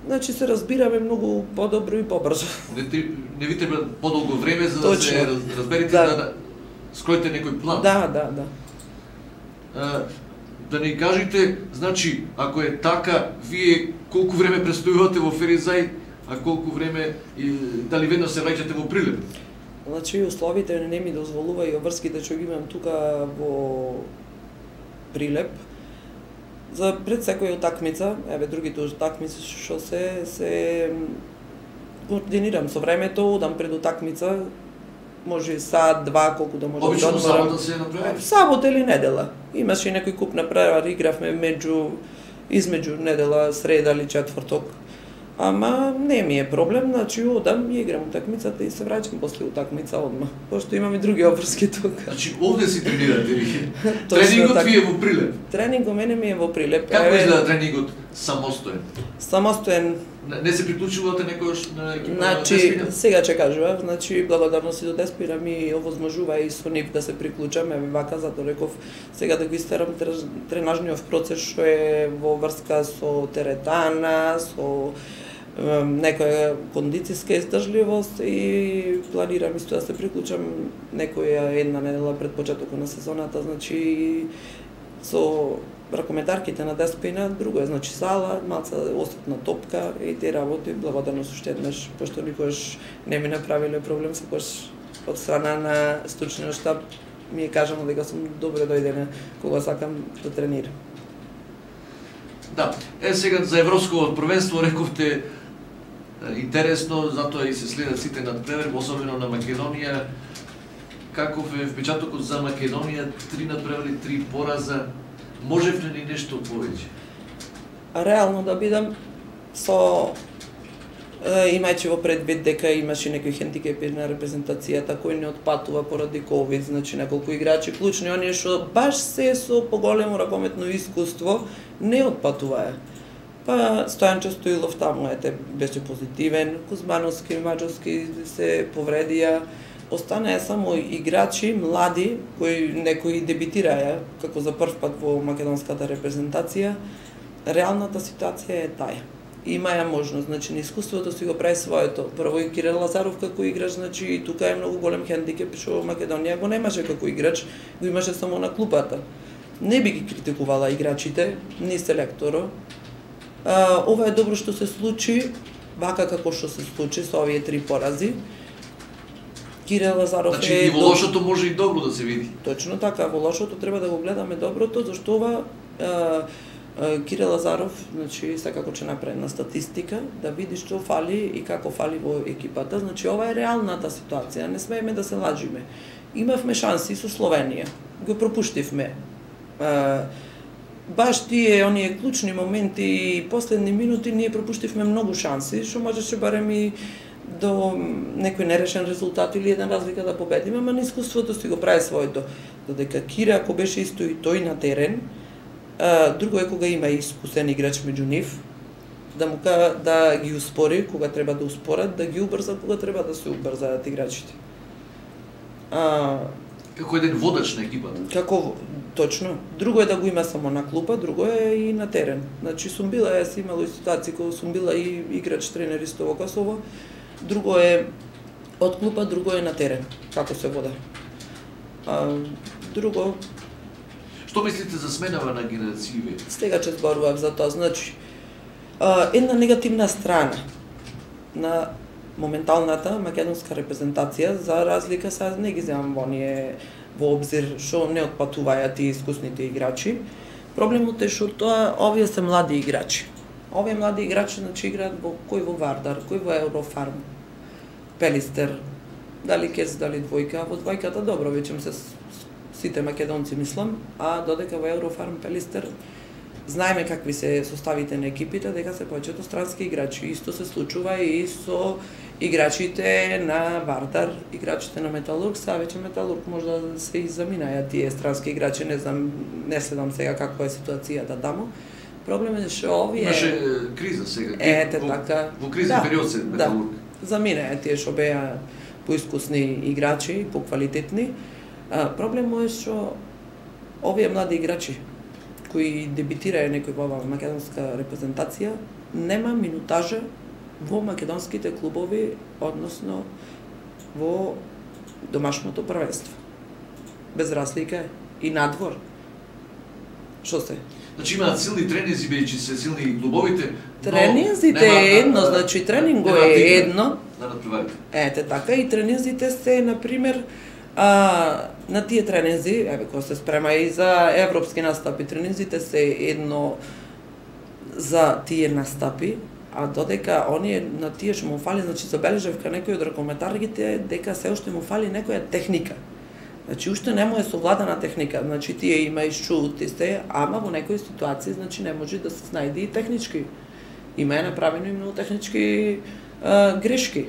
S2: значи се разбираме многу подобро и побрзо.
S1: Не ви треба подолго време за да се разберите, да скроите некој план.
S2: Да.
S1: Да ни кажете, значи, ако е така, вие колку време престојувате во Фери Зај, а колку време и дали веднаш се враќате во Прилеп?
S2: Значи, условите не ми дозволува и обврските што ги имам тука во Прилеп. За пред секоја утакмица, другите утакмици што се координирам со времето, одам пред утакмица, може сат, два, колку да може да одморам.
S1: Обично сабота се направи?
S2: Сабота или недела. Имаше некој куп направар, игравме измеѓу недела, среда или четврток. Ама не ми е проблем, значи одам и играм утакмицата и се враќам после утакмица одма. Пошто имам и други обврски тука.
S1: Значи овде си тренирате ви? Тренингот ви е во Прилеп?
S2: Тренингот мене ми е во Прилеп.
S1: Како изгледа тренингот самостоен?
S2: Самостоен.
S1: Не се приклучувате некојаш на екипа
S2: на
S1: Деспина?
S2: Деспина? Сега ќе кажувам, значи благодарности до Деспина ми овозможува и со нив да се приклучам, вака затоа реков сега да го истерам тренажниот процес што е во врска со теретана, со некоја кондицијска издржливост и планирам исто да се приклучам некоја една недела пред почетокот на сезоната, значи со ракометарките на Деспина, друго е, значи сала, малца осетна топка и тие работи, благодарност уште еднаш, пошто никош не ми направиле проблем, секојаш од страна на стручниот штаб ми е кажано дека сум добро дојдена кога сакам да тренирам.
S1: Да, сега за европското првенство рековте интересно, затоа и се следат сите надпревари, особено на Македонија. Каков е впечатокот за Македонија? 3 надпревари, 3 пораза. Можевте ли нешто повеќе?
S2: Реално да бидам имајќи во предвид дека имаше некои хендикепи на репрезентацијата кој не отпатува поради ковид, значи неколку играчи клучни, оние што баш се со поголемо ракометно искуство не отпатуваа. Па Стојанче Стоилов таму беше позитивен, Кузмановски, Маџовски се повредија, останаа само играчи млади кои некои дебитираа како за прв пат во македонската репрезентација. Реалната ситуација е таа. Имаја можност, значи на искуството си го прави своето. Прво и Кирил Лазаров како играч, значи и тука е многу голем хендикеп што Македонија го немаше како играч, го имаше само на клупата. Не би ги критикувала играчите, ни селекторо. Ова е добро што се случи, вака како што се случи со овие 3 порази. Кирил Лазаров
S1: значи, и во лошото може и добро да се види.
S2: Точно така, во лошото треба да го гледаме доброто, зашто ова Кирил Лазаров, значи секако ќе направи на статистика, да види што фали и како фали во екипата. Значи ова е реалната ситуација, не смееме да се лажиме. Имавме шанси со Словенија, го пропуштивме. Баш тие оние клучни моменти и последни минути ние пропуштивме многу шанси, што можеше барем и до некој нерешен резултат или една разлика да победиме, ама искуството си го прави своето. Додека Кире, ако беше исто и тој на терен, друго е кога има искусен играч меѓу нив, да ги успори кога треба да успорат, да ги убрза кога треба да се убрзаат играчите.
S1: Како еден водач на екипата.
S2: Како точно. Друго е да го има само на клупа, друго е и на терен. Значи сум била, јас имала и ситуации кога сум била и играч тренер исто во Косово. Друго е од клупа, друго е на терен, како се вода. Друго...
S1: Што мислите за сменава на генерацији?
S2: Сега че зборував за тоа, значи, една негативна страна на моменталната македонска репрезентација, за разлика са не ги земам во обзир што не отпатуваат и искусните играчи. Проблемот е што овие се млади играчи. Овие млади играчи значи играат кој во Вардар, кој во Еврофарм, Пелистер, дали Кец, дали Двојка, во двојката добро веќе се сите македонци мислам, а додека во Еврофарм, Пелистер знаеме какви се составите на екипите, дека се повеќето странски играчи. Исто се случува и со играчите на Вардар, играчите на Металург, са веќе Металург можда се изаминаја тие странски играчи, не знам, не следам сега каква е ситуацијата таму. Проблемот е што овие...
S1: Имаше криза сега.
S2: Така.
S1: Во кризен период се Металург.
S2: Заминаја тие што беа поискусни играчи, поквалитетни. Проблемот е што овие млади играчи кои дебитираја некој во македонска репрезентација, нема минутажа во македонските клубови, односно во домашното првенство. Без разлика и надвор. Што се?
S1: Значи имаат силни тренинзи, бидејќи се силни клубовите.
S2: Тренинзите е едно, значи тренинго е едно.
S1: Да надпреварите.
S2: Ете така, и тренинзите се, например, на тие тренинзи, кога се спрема и за европски настапи, тренинзите се едно за тие настапи, а додека оние на тие што му фали, значи забележав кај некој од ракометаргите дека се уште му фали некоја техника. Значи уште не му е совладана техника, значи тие има и шути се, ама во некои ситуации значи не може да се снајде и технички. Има е направено и многу технички грешки.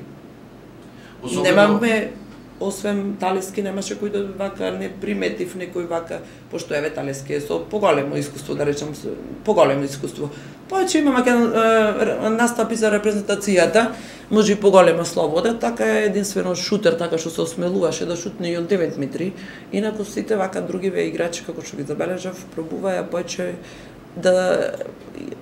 S2: Немаме, освен Талески, немаше кој да вака не приметив некој вака, пошто еве Талески е со поголемо искуство, да речем, поголемо искуство. Повеќе има настапи за репрезентацијата, може и поголема слобода, така е единствено шутер, така што се осмелуваше да шутне и од 9 метри, инаку сите вака другиве играчи, како што ги забележав, пробуваја повеќе да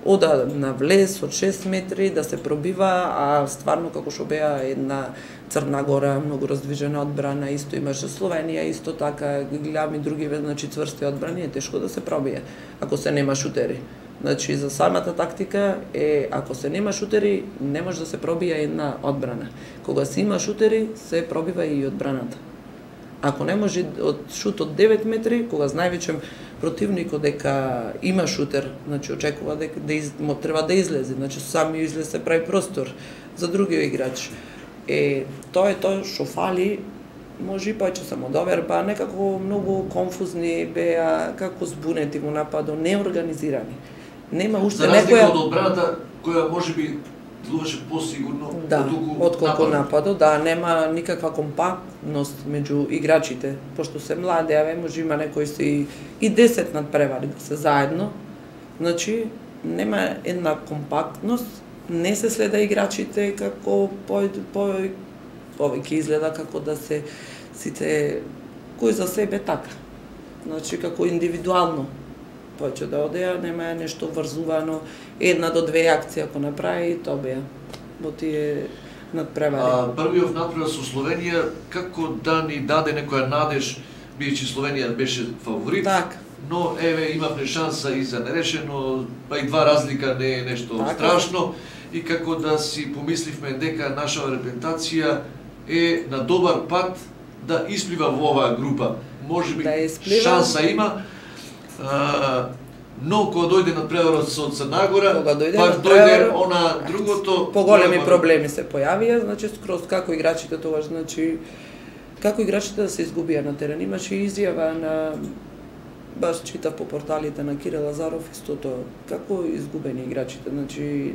S2: ода на влез од 6 метри, да се пробива, а стварно како што беа една Црна Гора, многу раздвижена одбрана, исто имаше Словенија, исто така, гледам и другиве, значи цврсти одбрани, е тешко да се пробие, ако се нема шутери. Значи, за самата тактика е, ако се нема шутери, не може да се пробија една одбрана. Кога се има шутери, се пробива и одбраната. Ако не може од шут од 9 метри, кога знае веќе противникот дека има шутер, значи очекува дека треба да излезе, значи сами излез се прави простор за други играч. Тоа е тоа што фали, може и повеќе самодоверба, некако многу конфузни беа, како збунети во нападот, неорганизирани. Нема уште некоја...
S1: За разлика од одбраната, која можеби делуваше посигурно
S2: отколку нападот, нема никаква компактност меѓу играчите, пошто се млади, може има некои си и 10 надпревари да се заедно, значи нема една компактност, не се следа играчите како повеќе изгледа како да се сите кој за себе така. Значи како индивидуално повеќе да одеа, нема нешто врзувано, 1 до 2 акции ако направи, тоа беа во тие надпревари.
S1: Првиот надпревар со Словенија, како да ни даде некоја надеж, бидејќи Словенија беше фаворит,
S2: Так.
S1: но еве имавме шанса и за нерешено, па и 2 разлика не е нешто страшно, и како да си помисливме дека нашава репрезентација е на добар пат да исплива во оваа група. Можеби шанса има, но кога дојде надпреварот со Црна Гора, пак дојде она другото...
S2: Поголеми проблеми се појавија, значи скроз како играчите тогаш, значи како играчите да се изгубија на терен. Имаше изјава на, баш читав по порталите на Кире Лазаров истото, како изгубени играчите. Значи,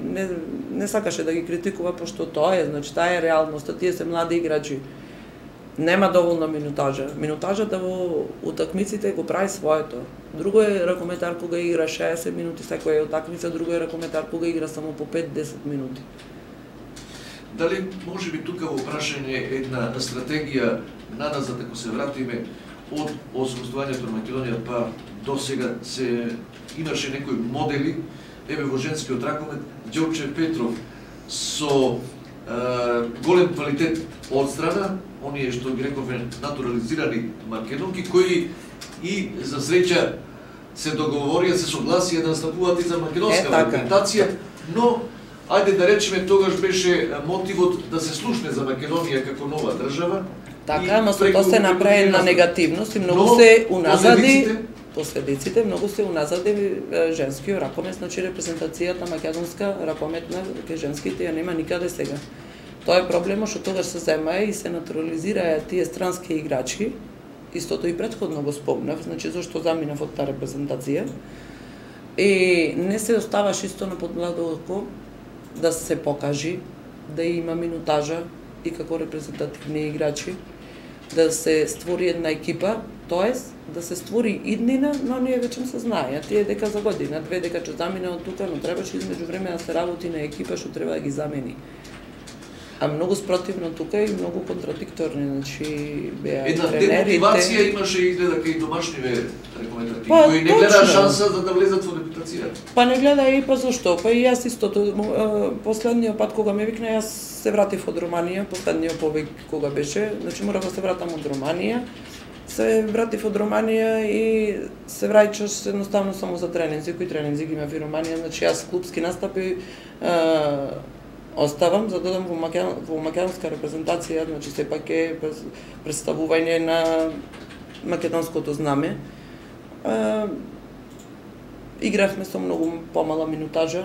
S2: не сакаше да ги критикува, пошто тоа е, значи, таа е реалноста, тие се млади играчи. Нема доволна минутажа. Минутажата во утакмиците го прави своето. Друго е ракометар кога игра 60 минути секоја утакмица, друго е ракометар кога игра само по 5-10 минути.
S1: Дали може би тука во прашање една стратегија наназад, ако се вратиме од освојувањето на Македонија па до сега се имаше некои модели, еве во женскиот ракомет Ѓорче Петров со голем квалитет од страна, оние што ги рекове натурализирани македонки, кои и за среќа се договорија, се согласија да настапуваат и за македонска репрезентација, но ајде да речеме тогаш беше мотивот да се слушне за Македонија како нова држава.
S2: Така, ама со тоа се направи на негативност и многу се уназади последиците, многу се уназади женскиот ракомет, значи репрезентацијата македонска ракометна кај женските ја нема никаде сега. Тоа е проблемот што тогаш се зема и се натурализираа тие странски играчи. Истото и претходно го спомнав, значи зашто заминав од таа репрезентација. И не се оставаш исто на подмладо око да се покажи, да има минутажа и како репрезентативни играчи, да се створи една екипа, тоест да се створи иднина, но ние веќе се знаеја, тие дека за година, две дека ќе замине од тука, но требаше измеѓу време да се работи на екипа што треба да ги замени. А многу спротивно тука и многу контрадикторни, значи беа тренерите.
S1: Една демотивација имаше изгледа кај домашниве рекомендативи, кои не гледаа шанса за да влезат во репутацијата.
S2: Па не гледа и па зашто? Па и јас истото, последниот пат кога ме викна, јас се вратив од Романија, последниот повик кога беше, значи морав да се вратам од Романија. Се вратив од Романија и се враќаш едноставно само за тренинзи, кои тренинзи ги имав и Романија, значи јас клубски настапи оставам за да додам во македонска репрезентација, значи сепак е представување на македонското знаме. Игравме со многу помала минутажа,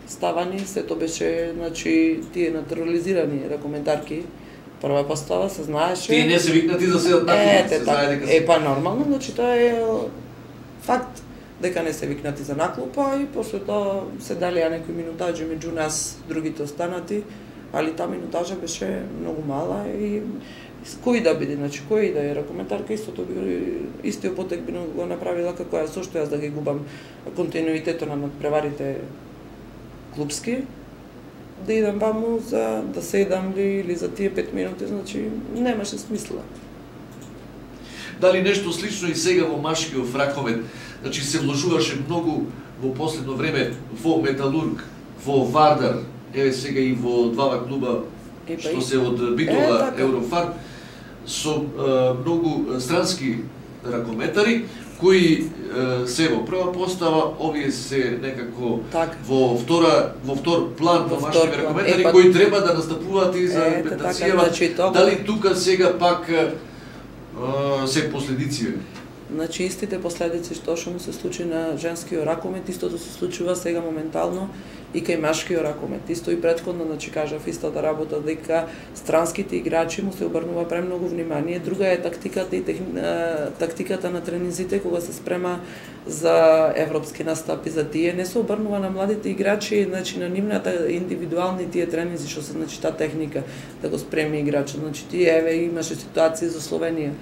S2: ставани, сето беше, значи, тие натурализирани ракоментарки. Прва постава се знаеше.
S1: Тие не се викнати за седат на клуб, се знае дека се.
S2: Па нормално, значи тоа е факт дека не се викнати за наклупа и после тоа се далија некои минутажи меѓу нас, другите останати, али таа минутажа беше многу мала и кој да биде, значи кој да е ракоментарка, истото би истиот потек би го направила како ја, зошто јас да ги губам континуитетот на надпреварите клубски, да идам ваму за да седам или за тие 5 минути, значи немаше смисла.
S1: Дали нешто слично и сега во машкиот ракомет? Значи се вложуваше многу во последно време во Металург, во Вардар, еве сега и во двава клуба што се од Битола, Еврофар, со многу странски ракометари, кои се во прва постава, овие се некако во втор план во машките ракометари, кои треба да настапуваат и за репрезентацијава. Дали тука сега пак се последици?
S2: Значи истите последици што му се случи на женскиот ракомет, истото се случува сега моментално и кај машкиот ракомет. Исто и претходно, значи кажав истата работа дека странските играчи му се обрнува премногу внимание. Друга е тактиката и тактиката на тренинзите кога се спрема за европски настапи, за тие не се обрнува на младите играчи, значи на нивната индивидуални тие тренинзи што се, значи таа техника да го спреми играчот. Значи тие еве имаше ситуации за Словенија.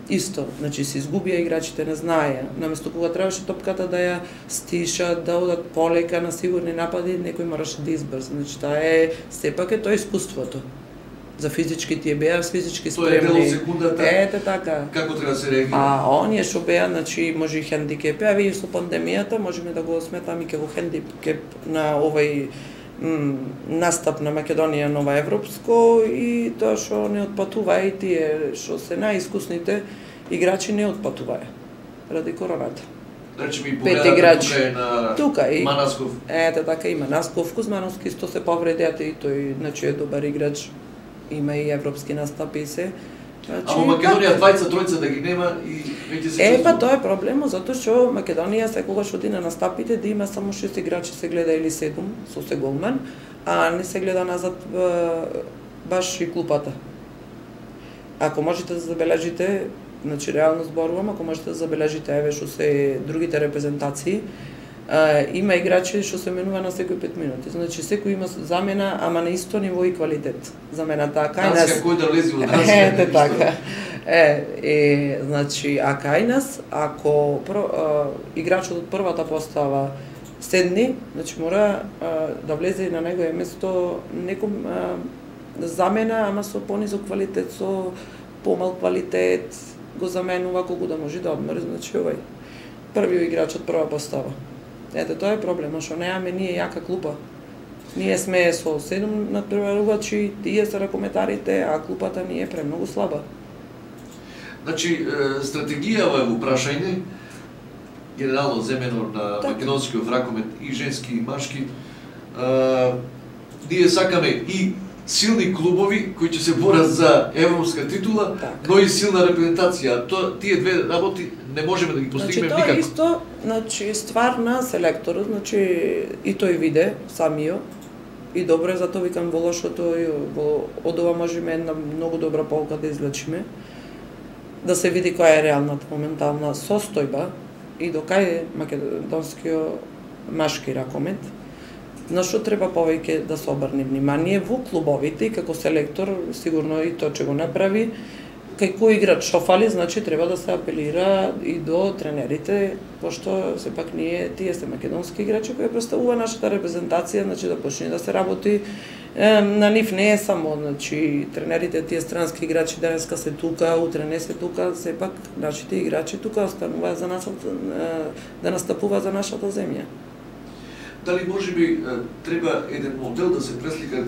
S2: Исто, значи се изгубија играчите, не знаеја. Наместо кога требаше топката да ја стишат, да одат полека на сигурни напади, некој мораше да избрза. Значи таа е сепак е тоа искуството. За физички тие беа физички спремни.
S1: Тоа е дело секундата.
S2: Ете така.
S1: Како треба да се реагира?
S2: А оние што беа, значи може и хендикеп, а и со пандемијата можеме да го сметаме како хендикеп на овој настап на Македонија нова европско и тоа што не отпатува и тие што се најискусните играчи не отпатуваја ради короната.
S1: Речеме и погледате тука е на Манасков.
S2: Ете така има Насков, Кузмановски исто се повредеа и тој значи е добар играч. Има и европски настапи и се.
S1: А во Македонија двајца, тројца да ги нема и веќе се чувствува.
S2: Па тоа е проблемот, затоа што Македонија секогаш оди на настапите да има само 6 играчи се гледа или 7 со се голман, а не се гледа назад баш и клупата. ако можете да забележите, значи реално зборувам, ако можете да забележите еве што се другите репрезентации, има играчи што се менува на секој 5 минути. Значи секој има замена, ама на исто ниво и квалитет. За мене така и нас.
S1: Кој да влезе во
S2: Ете така. Значи, а кај нас, ако играчот од првата постава седни, значи мора да влезе на негово место неком замена, ама со понизок квалитет, со помал квалитет, го заменува колку да може да одмори, значи овај првиот играч од прва постава. Ете, тоа е проблемот, што немаме ние јака клупа. Ние сме со 7 надпреварувачи, тие се ракометарите, а клупата ни е премногу слаба.
S1: Значи, стратегијава е во прашање, генерално земено на македонскиот ракомет и женски и машки. Ние сакаме и силни клубови кои ќе се борат за европска титула, но и силна репрезентација. Тие две работи не можеме да ги постигнеме никако.
S2: Тоа е исто, значи ствар на селекторот, значи и тој виде самио и добро е, затоа викам во лошото од ова можеме една многу добра полка да извлечиме, да се види која е реалната моментална состојба и до кај е македонскиот машки ракомет. На што треба повеќе да се обрне внимание во клубовите и како селектор, сигурно и тоа че го направи, кај кој играч што фали, значи треба да се апелира и до тренерите, пошто сепак ние тие се македонски играчи кои представува нашата репрезентација, значи да почне да се работи на нив, не е само, значи тренерите тие странски играчи денеска се тука, утре не се тука, сепак нашите играчи тука остануваат за нас да настапува за нашата земја.
S1: Дали можеби треба еден модел да се преслика?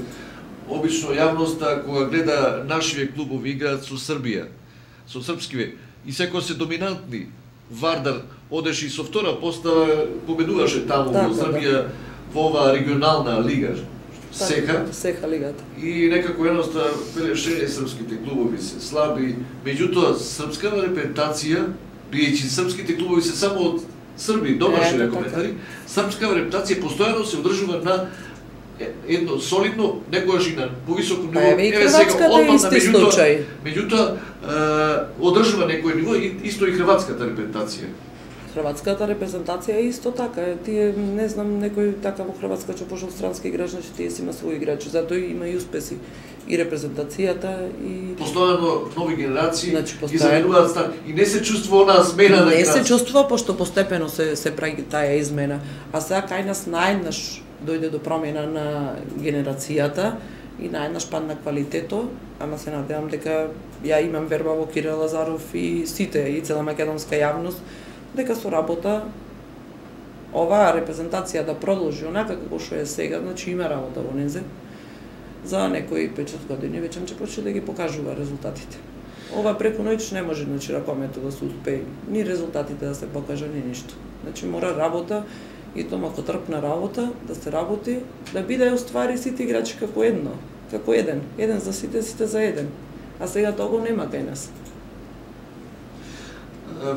S1: Обично јавноста кога гледа нашиве клубови играат со Србија, со српскиве, и секој се доминантни. Вардар одеше и со втора постава, победуваше таму во Србија во оваа регионална лига, Сеха
S2: лигата.
S1: И некако едноста велеше српските клубови се слаби, меѓутоа српската репрезентација, бидејќи српските клубови се само од Срби, домашни ракометари, српска репрезентација постојано се одржува на едно солидно, некогаш и на повисоко ниво.
S2: Еве сега одмам на
S1: меѓутоа одржува некој ниво, исто и хрватската репрезентација.
S2: Хрватската репрезентација е исто така. Тие, не знам, некој така во Хрватска че пошол странски играч, значи тие си има своји играчи, затоа има и успеси. И репрезентацијата, и...
S1: Постојано нови генерации, значи, и заменуваат стар. И не се чувствува онаа смена на
S2: Не се чувствува, пошто постепено се прави таа измена. А сега кај нас наеднаш дојде до промена на генерацијата и наеднаш падна квалитето, ама се надевам дека ја имам верба во Кирил Лазаров и сите, и цела македонска јавност, дека со работа оваа репрезентација да продолжи онака како што е сега, значи има работа во незе. За некои 5-6 години веќе ќе почне да ги покажува резултатите. Ова преку ноќ не може, значи, ракометот да се успее, ни резултатите да се покажа, ни ништо. Значи мора работа и тоа макотрпна работа, да се работи, да биде уствари сите играчи како едно, како еден за сите, сите за еден. А сега тоа го нема кај нас.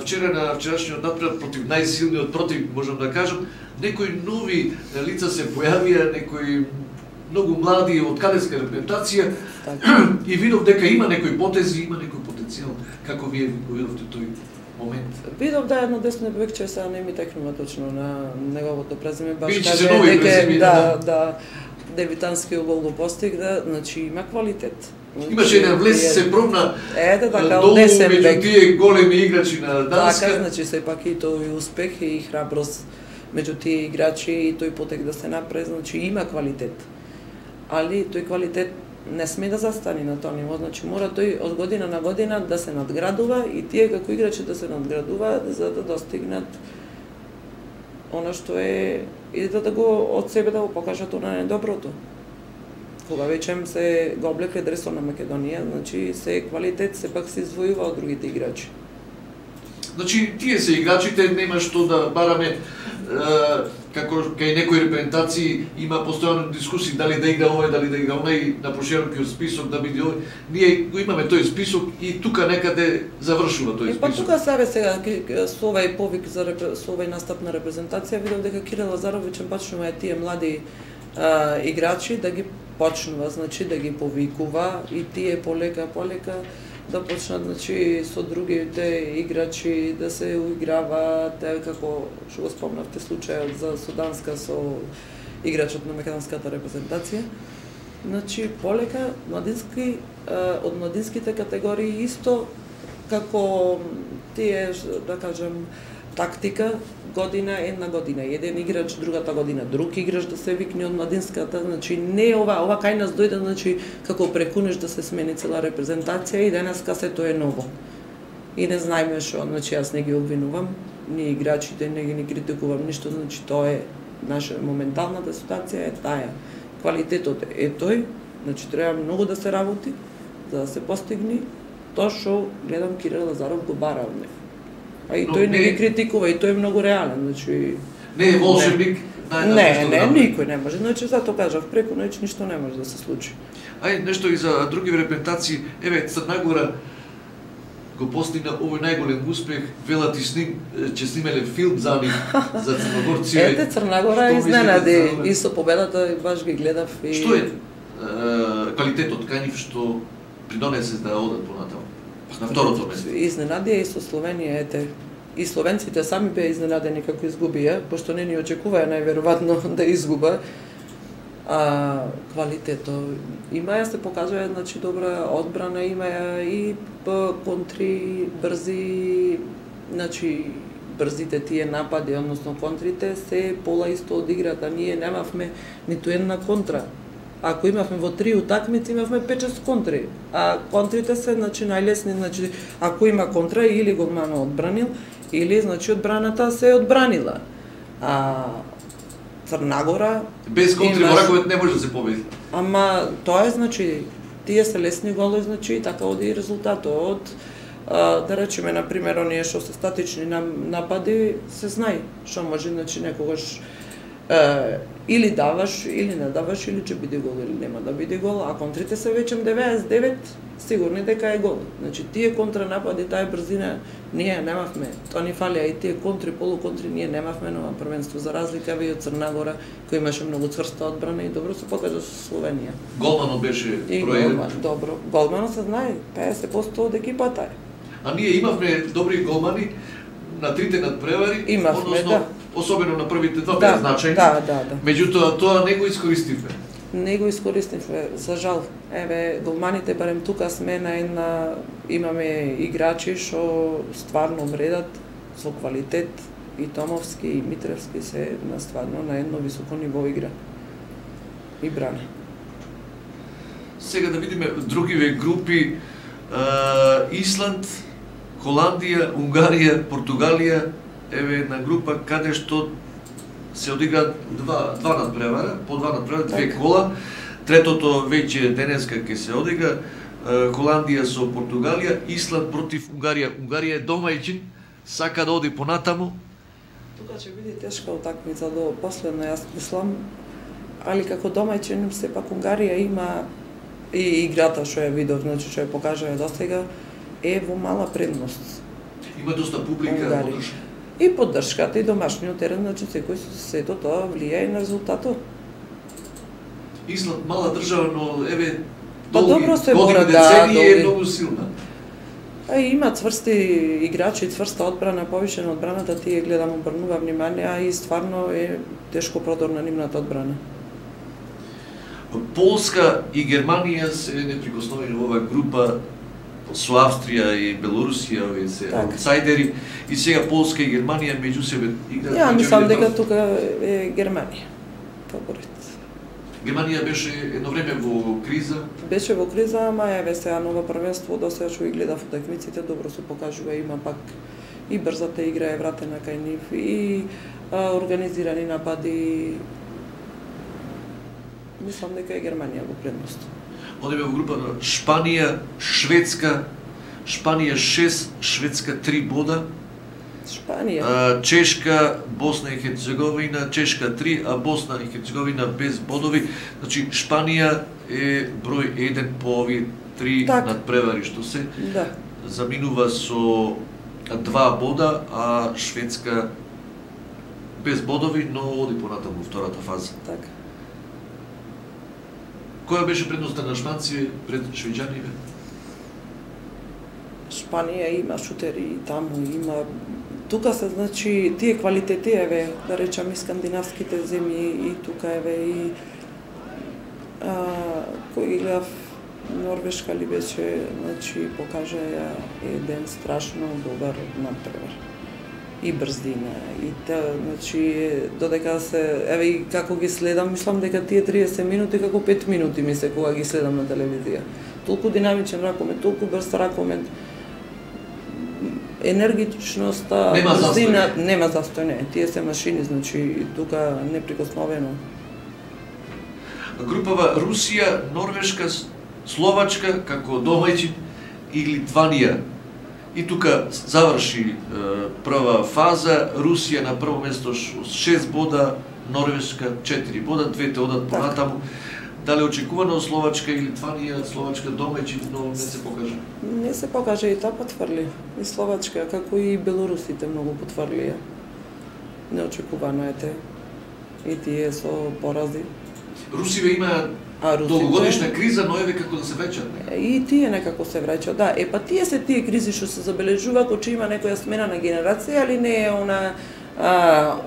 S1: Вчера на вчерашниот надпревар против најсилниот против, можам да кажам, некои нови лица се појавија, некои многу млади од кадетска репрезентација и видов дека има некои потези, има некој потенцијал. Како вие го видовте тој момент?
S2: Видов да едно десно бекче, сега не ми текнува точно на неговото презиме, баш
S1: каже дека
S2: дебитански гол го постигна, значи има квалитет.
S1: Имаше еден влез, се пробна
S2: така,
S1: долу меѓу тие големи играчи на Данска.
S2: Така, значи сепак и тој успех и храброст меѓу тие играчи и тој потек да се напред, значи има квалитет. Али тој квалитет не сме да застани на тоа ниво, значи мора тој од година на година да се надградува и тие како играчи да се надградуваат за да достигнат она што е и да го од себе да го покажат она недоброто. Кога веќе се го облекле дресот на Македонија, значи се квалитет сепак се извојува од другите играчи.
S1: Значи тие се играчите, нема што да бараме како кај некои репрезентации има постојано дискусии дали да игра овој, дали да игра оној на проширокиот список, да биде овој. Ние го имаме тој список и тука некаде завршува тој список.
S2: Па тука сега со овај повик со овај настап на репрезентација видов дека Кирил Лазарович почнува тие млади играчи да ги почнува, значи да ги повикува и тие полека да почнат значи со другите играчи да се уиграваат, како што го спомнавте случајот за Суданска со играчот на македонската репрезентација. Значи полека младински од младинските категории исто како тие да кажам тактика една година еден играч, другата година друг играч да се викне од младинската, значи не ова кај нас дојде значи како прекунеш да се смени цела репрезентација и денеска сето е ново. И не знаеме што, значи јас не ги обвинувам, ни играчите не ги критикувам ништо, значи тоа е наша моменталната ситуација е таа. Квалитетот е тој, значи треба многу да се работи за да се постигне тоа што гледам Кирил Лазаров го бара од него. А и тој не ги критикува, и тој е многу реален, значи...
S1: Не е волшебник,
S2: не, никој не може, значи затоа кажав, преку ноќ ништо не може да се случи.
S1: Нешто и за други репрезентации, еве Црна Гора го постигна овој најголем успех, велат и че снимеле филм за нив, за црногорци.
S2: Ете, Црна Гора изненади, и со победата баш ги гледав и...
S1: Што е квалитетот кај нив што придонесе да одат понатаму? На второто место.
S2: Изненадија и со Словенија, ете. И словенците сами беа изненадени како изгубија, пошто не ни очекуваа најверојатно да изгуба. Квалитето има, се покажува значи добра одбрана, има и контри брзи, значи брзите тие напади, односно контрите се пола исто од играта. Ние немавме ниту една контра. Ако имавме во 3 утакмици, имавме 5-6 контри. А контрите се значи најлесни, значи ако има контра или голмано одбранил, или значи одбраната се одбранила. Црна Гора
S1: без контри во раковет не може да се победи.
S2: Ама тоа е значи тие се лесни голови, значи така оди и резултатот. Да речеме на пример оние што се статични напади, се знае што може значи некогаш или даваш, или не даваш, или ќе биде гол, или нема да биде гол, а контрите се веќе 99 сигурни дека е гол. Значи тие контранапади, таа брзина ние немавме. Тоа ни фалија и тие контри, полуконтри ние немавме на првенство, за разлика и од Црна Гора кој имаше многу цврста одбрана и добро се покажа со Словенија.
S1: Голманот беше
S2: проеден. Добро. Голманот се знае, 50% од екипата е.
S1: А ние имавме добри голмани на трите надпревари,
S2: имавме, да.
S1: Особено на првите два беа значајни.
S2: Да.
S1: Меѓутоа тоа не го искористивме.
S2: Не го искористивме, за жал. Еве, голманите барем тука сме на една, имаме играчи што стварно вредат со квалитет, и Томовски и Митревски се на стварно на едно високо ниво игра и брана.
S1: Сега да видиме другиве групи, Исланд, Холандија, Унгарија, Португалија, еве една група каде што се одиграат два надпревара, по два надпревара, две кола. Третото веќе денеска ќе се одигра, Холандија со Португалија, Исланд против Унгарија. Унгарија е домајчин, сака да оди понатаму.
S2: Тука ќе биде тешка утакмица до последно, јас мислам, али како домајчин сепак Унгарија има и играта што ја видов, значи што ја покажа досега, е во мала предност.
S1: Има доста публика, поддршка.
S2: И поддршката и домашниот терен, значи секој сето тоа влијае на резултатот.
S1: Исланд мала држава, но еве
S2: добро се
S1: години децении е многу силна.
S2: Има цврсти играчи, цврста одбрана, повише на одбраната, тие гледам обрнува внимание, а и стварно е тешко продорна нивната одбрана.
S1: Полска и Германија се неприкосновени во оваа група со Австрија и Белорусија, овие се аутсайдери, и сега Полска и Германија меѓу себе играат.
S2: Ја мислам дека тука е Германија фаворит.
S1: Германија беше едно време во криза.
S2: Беше во криза, ама еве сега ново првенство, до сега што ги гледав утакмиците, добро се покажува, има пак и брзата игра е вратена кај нив, и организирани напади. Мислам дека е Германија во предност.
S1: Одиме во група на Шпанија, Шведска, Шпанија 6, Шведска 3 бода.
S2: Шпанија.
S1: Чешка, Босна и Херцеговина, Чешка 3, а Босна и Херцеговина без бодови. Значи Шпанија е број 1 по овие 3 надпревари што се.
S2: Да.
S1: Заминува со 2 бода, а Шведска без бодови, но оди понатаму во втората фаза.
S2: Така.
S1: Која беше предноста на шпанци пред швеѓаните?
S2: Шпанија има шутери и таму има. Тука се значи тие квалитети еве, да речам и скандинавските земји и тука еве и кој ги гледав Норвешка ли беше, значи покажа еден страшно добар натпревар. И брзина, и значи додека се еве и како ги следам, мислам дека тие 30 минути како 5 минути ми се кога ги следам на телевизија. Толку динамичен ракомет, толку брз ракомет. Енергичноста, брзина, нема застој, не. Тие се машини, значи тука неприкосновено.
S1: Групава Русија, Норвешка, Словачка како домаќин и Литванија. И тука заврши прва фаза, Русија на прво место 6 бода, Норвешка 4 бода, двете одат понатаму. Дали очекувано Словачка и Литванија, Словачка домаќин, но не се покажа?
S2: Не се покажа и таа потврли. И Словачка, како и белорусите многу потврлија. Неочекувано е те. И тие со порази.
S1: Русиве има долгогодишна криза, но еве како да се враќаат.
S2: И тие некако се враќаат, да. Па тие се тие кризи што се забележува кога има некоја смена на генерација, али не е она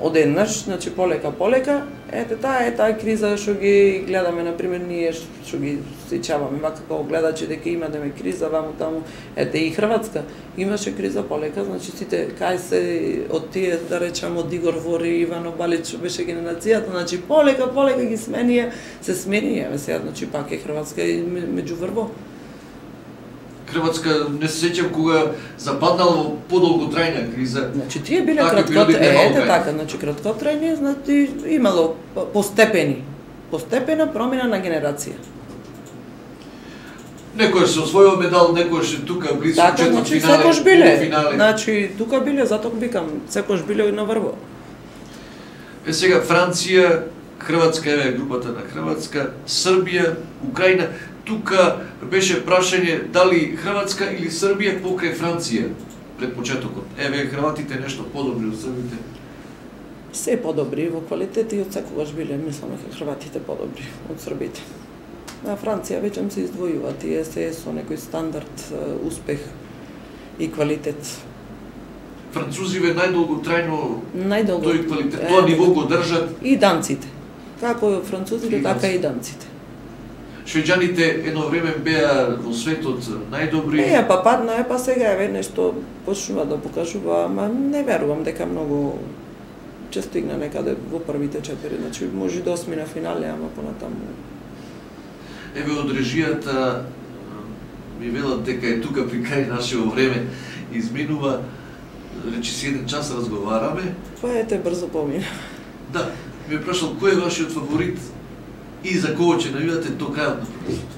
S2: одеднаш, значи полека. Ете таа криза што ги гледаме, например, ние што ги сеќаваме, вака како гледачи дека има криза ваму таму. Ете и Хрватска имаше криза полека, значи сите кај се од тие, да речам, од Игор Вори, Ивано Балич што беше генерацијата, значи полека ги сменија, се сменија, сега значи пак е Хрватска и меѓуврво.
S1: Хрватска не се сеќам кога западнала во подолготрајна криза.
S2: Значи тие биле краткотрајни, значи имало постепена промена на генерација.
S1: Некојаш се освоил медал, некојаш е тука близко четвртфинале,
S2: секојаш биле.
S1: полуфинале.
S2: Значи тука биле, затоа викам, секојаш биле на врво.
S1: Сега Франција, Хрватска е групата на Хрватска, Србија, Украина. Тука беше прашање дали Хрватска или Србија покрај Франција пред почетокот. Еве хрватите нешто подобри од србите.
S2: Се подобри во квалитет и од секогаш биле, мислам дека хрватите подобри од србите. На Франција веќе се издвојува, тие се со некој стандард успех и квалитет.
S1: Французиве најдолготрајно тој квалитет, тоа ниво го држат.
S2: И данците. Како французите, така и данците.
S1: Швеѓаните едно време беа во светот најдобри.
S2: Па падна па сега еве нешто почнува да покажува, ама не верувам дека многу ќе стигне некаде во првите 4, значи може да осми на финале, ама понатаму.
S1: Еве од режијата ми велат дека е тука при крај нашето време изминува, речи си 1 час разговараме.
S2: Па ете брзо помина.
S1: Да, ми е прашал кој е вашиот фаворит и за кого ќе навивате до крајот на првенството?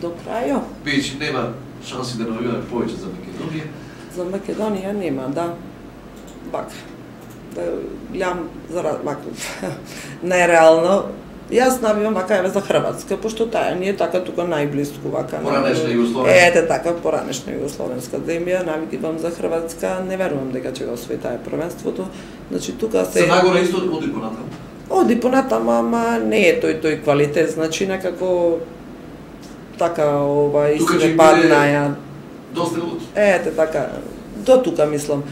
S2: До крајот?
S1: Веќе нема шанси да навиваме повеќе за Македонија.
S2: За Македонија нема, да. Бак. Да гледам за бак. Нереално. Јас навивам вака еве за Хрватска, пошто таа ни е така тука најблиску вака.
S1: Поранешна Југословенска.
S2: Ете така, поранешна Југословенска земја, навикивам за Хрватска, не верувам дека ќе го освои таа првенството. Значи тука се
S1: Се нагоре исто оди понатаму.
S2: Оди понатаму, ама не е тој квалитет, значи некако така и се паднаја.
S1: Доста лут.
S2: Ете така, до тука мислам.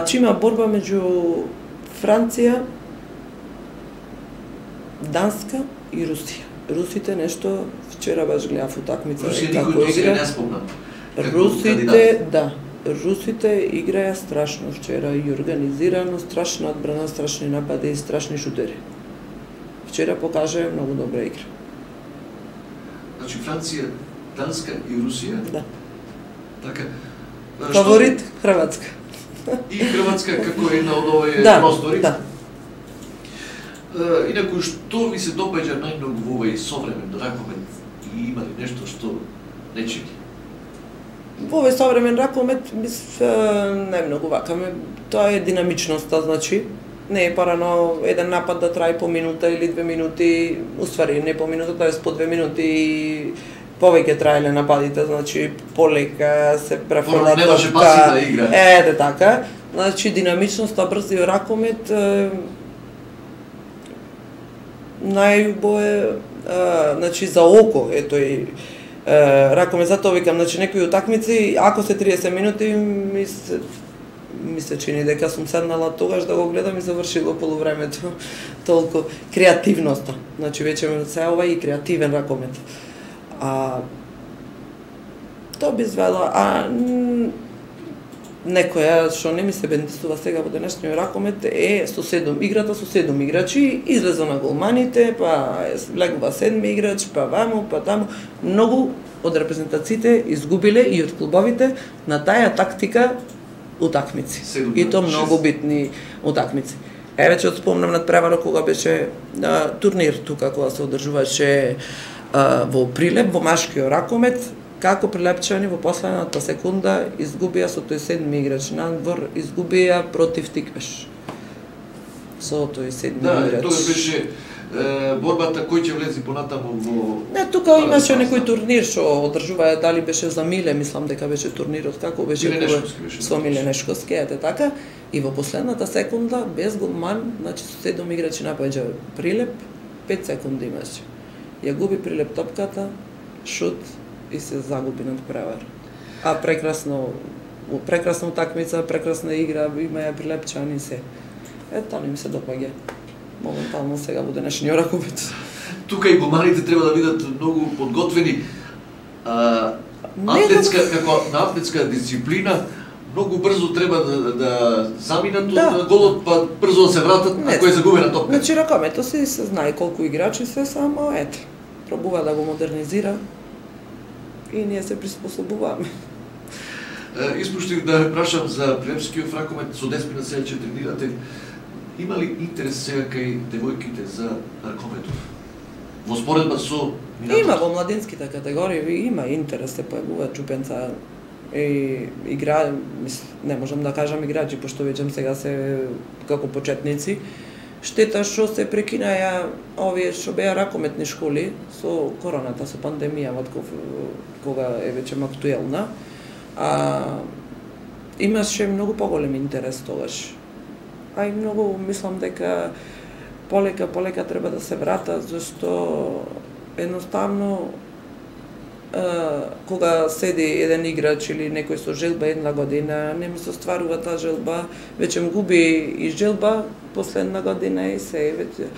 S2: Че има борба меѓу Франција, Данска и Русија. Русите нешто вчера баш гледав утакмица
S1: како игра. Не спомнам.
S2: Русите, да. Русите играја страшно вчера и организирано, страшна одбрана, страшни напади и страшни шутери. Вчера покажа многу добра игра.
S1: Значи Франција, Данска и Русија?
S2: Да.
S1: Така.
S2: Фаворит Хрватска.
S1: И Хрватска како една од овие простори?
S2: Да.
S1: Инаку што ви се допаѓа најмногу во овој современ ракомет и има ли нешто што не чини?
S2: Во овој современ ракомет најмногу вака тоа е динамичноста, значи не е парано еден напад да трае по минута или 2 минути, уствари не по минута, тоа по 2 минути и повеќе траеле нападите, значи полека се префрла топка.
S1: Немаше паси да игра.
S2: Ете така, значи динамичноста, брзи ракомет најубо е, значи за око е тој ракомет, затоа викам, значи некои утакмици, ако се 30 минути, ми се чини дека сум седнала тогаш да го гледам и завршило полувремето. Толку креативноста. Значи веќе се ова и креативен ракомет. Тоа би извела, некоја што не ми се бендисува сега во денешниот ракомет е играта со 7 играчи, излеза на голманите, па влегува 7 играч, па ваму, па таму. Многу од репрезентациите изгубиле и од клубовите на таа тактика утакмици. И то многу битни утакмици. Веќе спомнам надпреварот кога беше турнир тука, кога се одржуваше во Прилеп, во машкиот ракомет, како прилепчани во последната секунда изгубија со тој 7 играч надвор, изгубија против Тиквеш. Со тој 7 играч.
S1: Да, тоа беше борбата кој ќе влезе понатаму во...
S2: Не, тука имаше некој турнир што одржуваа, дали беше за Миле, мислам дека беше турнирот, како беше со Миле Нешковски, ете така. И во последната секунда, без голман, значи со 7 играчи напаѓа Прилеп, 5 секунди имаше. Ја губи Прилеп топката, шут и се загуби надпревар. Прекрасна утакмица, прекрасна игра, има ја прилепчани се. Тоа не ми се допаѓа. Моментално сега во денешниот ракомет.
S1: Тука и голманите треба да бидат многу подготвени. Како на атлетска дисциплина, многу брзо треба да заминат од голот, па брзо да се вратат ако е загубена топка.
S2: Значи ракометот се знае колку играчи се, само ете, пробува да го модернизира и ние се приспособуваме.
S1: Испуштив да ве прашам за прилепскиот ракомет, со Деспина сега ќе тренирате. Има ли интерес сега кај девојките за ракометов? Во споредба со минатот?
S2: Има во младинските категории, има интерес, се појавуваат чупенца и игра, не можам да кажам играчи, пошто веќе сега се како почетници. Штета што се прекинаја овие што беа ракометни школи со короната, со пандемијава, кога е веќе актуелна. Имаше многу поголем интерес тогаш. И многу мислам дека полека треба да се врата, зашто едноставно кога седи еден играч или некој со желба една година, не му се остварува таа желба, веќе му губи и желба последна година и се веќе.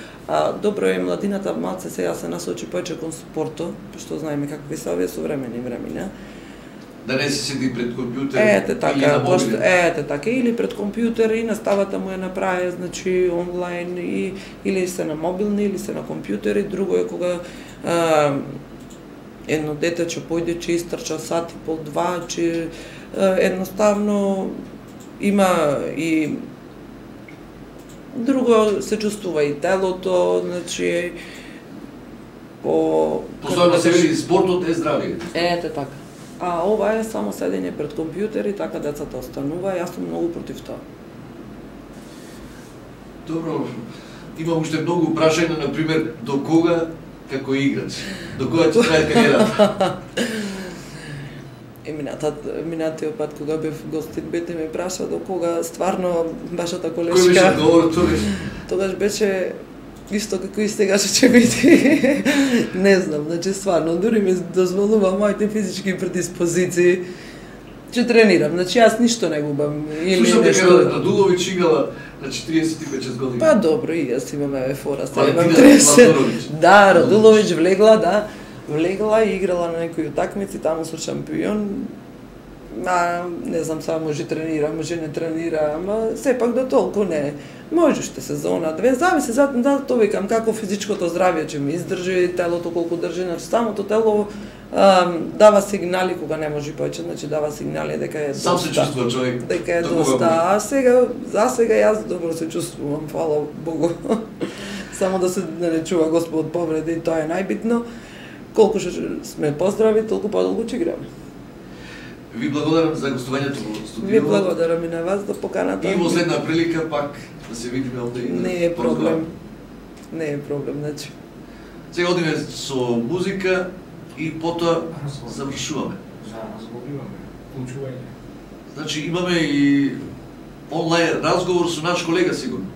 S2: Добро е младината малце сега се насочи повеќе кон спортот, пошто знаеме какви се овие современи времиња.
S1: Да не се седи пред компјутер
S2: или на мобилен. Или пред компјутер и наставата му е направи, значи онлайн или се на мобилни или се на компјутери. Друго е кога едно дете ќе појде, ќе истрча сат и пол, два, че едноставно има и друго се чувствува и телото, значи
S1: Позорно се вели спортот е здравје.
S2: Ете така. Ова е само седење пред компјутер и така децата останува, јас сум многу против тоа.
S1: Добро, имам уште многу прашања, например, до кога како играч? До кога ќе трае кариерата?
S2: Минатиот пат кога бев гостин, бете ме праша до кога стварно вашата колешка.
S1: Кој беше одговорот тогаш?
S2: Тогаш беше исто како и сега ќе биде. Не знам, значи стварно, дури ми дозволува моите физички предиспозиции, ќе тренирам, значи јас ништо не губам.
S1: Слушам дека Радулович играла на 45 години.
S2: Па добро, и јас имам фора, сега имам 30. Да, Радулович влегла и играла на некои утакмици, таму со шампион. Не знам, сега може тренира, може не тренира, ама сепак до толку не. Може уште сезона, две, зависи, затоа викам како физичкото здравје ќе ми издржи, телото колку држи, значи самото тело дава сигнали кога не може повеќе, значи дава сигнали дека е доста.
S1: Сам се чувствува човек.
S2: Дека е доста. За сега јас добро се чувствувам, фала Богу. Само да се не чува Господ повреди, тоа е најбитно. Колку што сме поздрави, толку подолго ќе играме.
S1: Ви благодарам за гостувањето во студиото.
S2: Ви благодарам и на вас за поканата.
S1: И во следна прилика пак да се видиме овде и
S2: Не е проблем. Не е проблем, значи.
S1: Сега одиме со музика и потоа завршуваме.
S3: Разговаруваме, учување.
S1: Значи имаме и онлайн разговор со наш колега сигурно.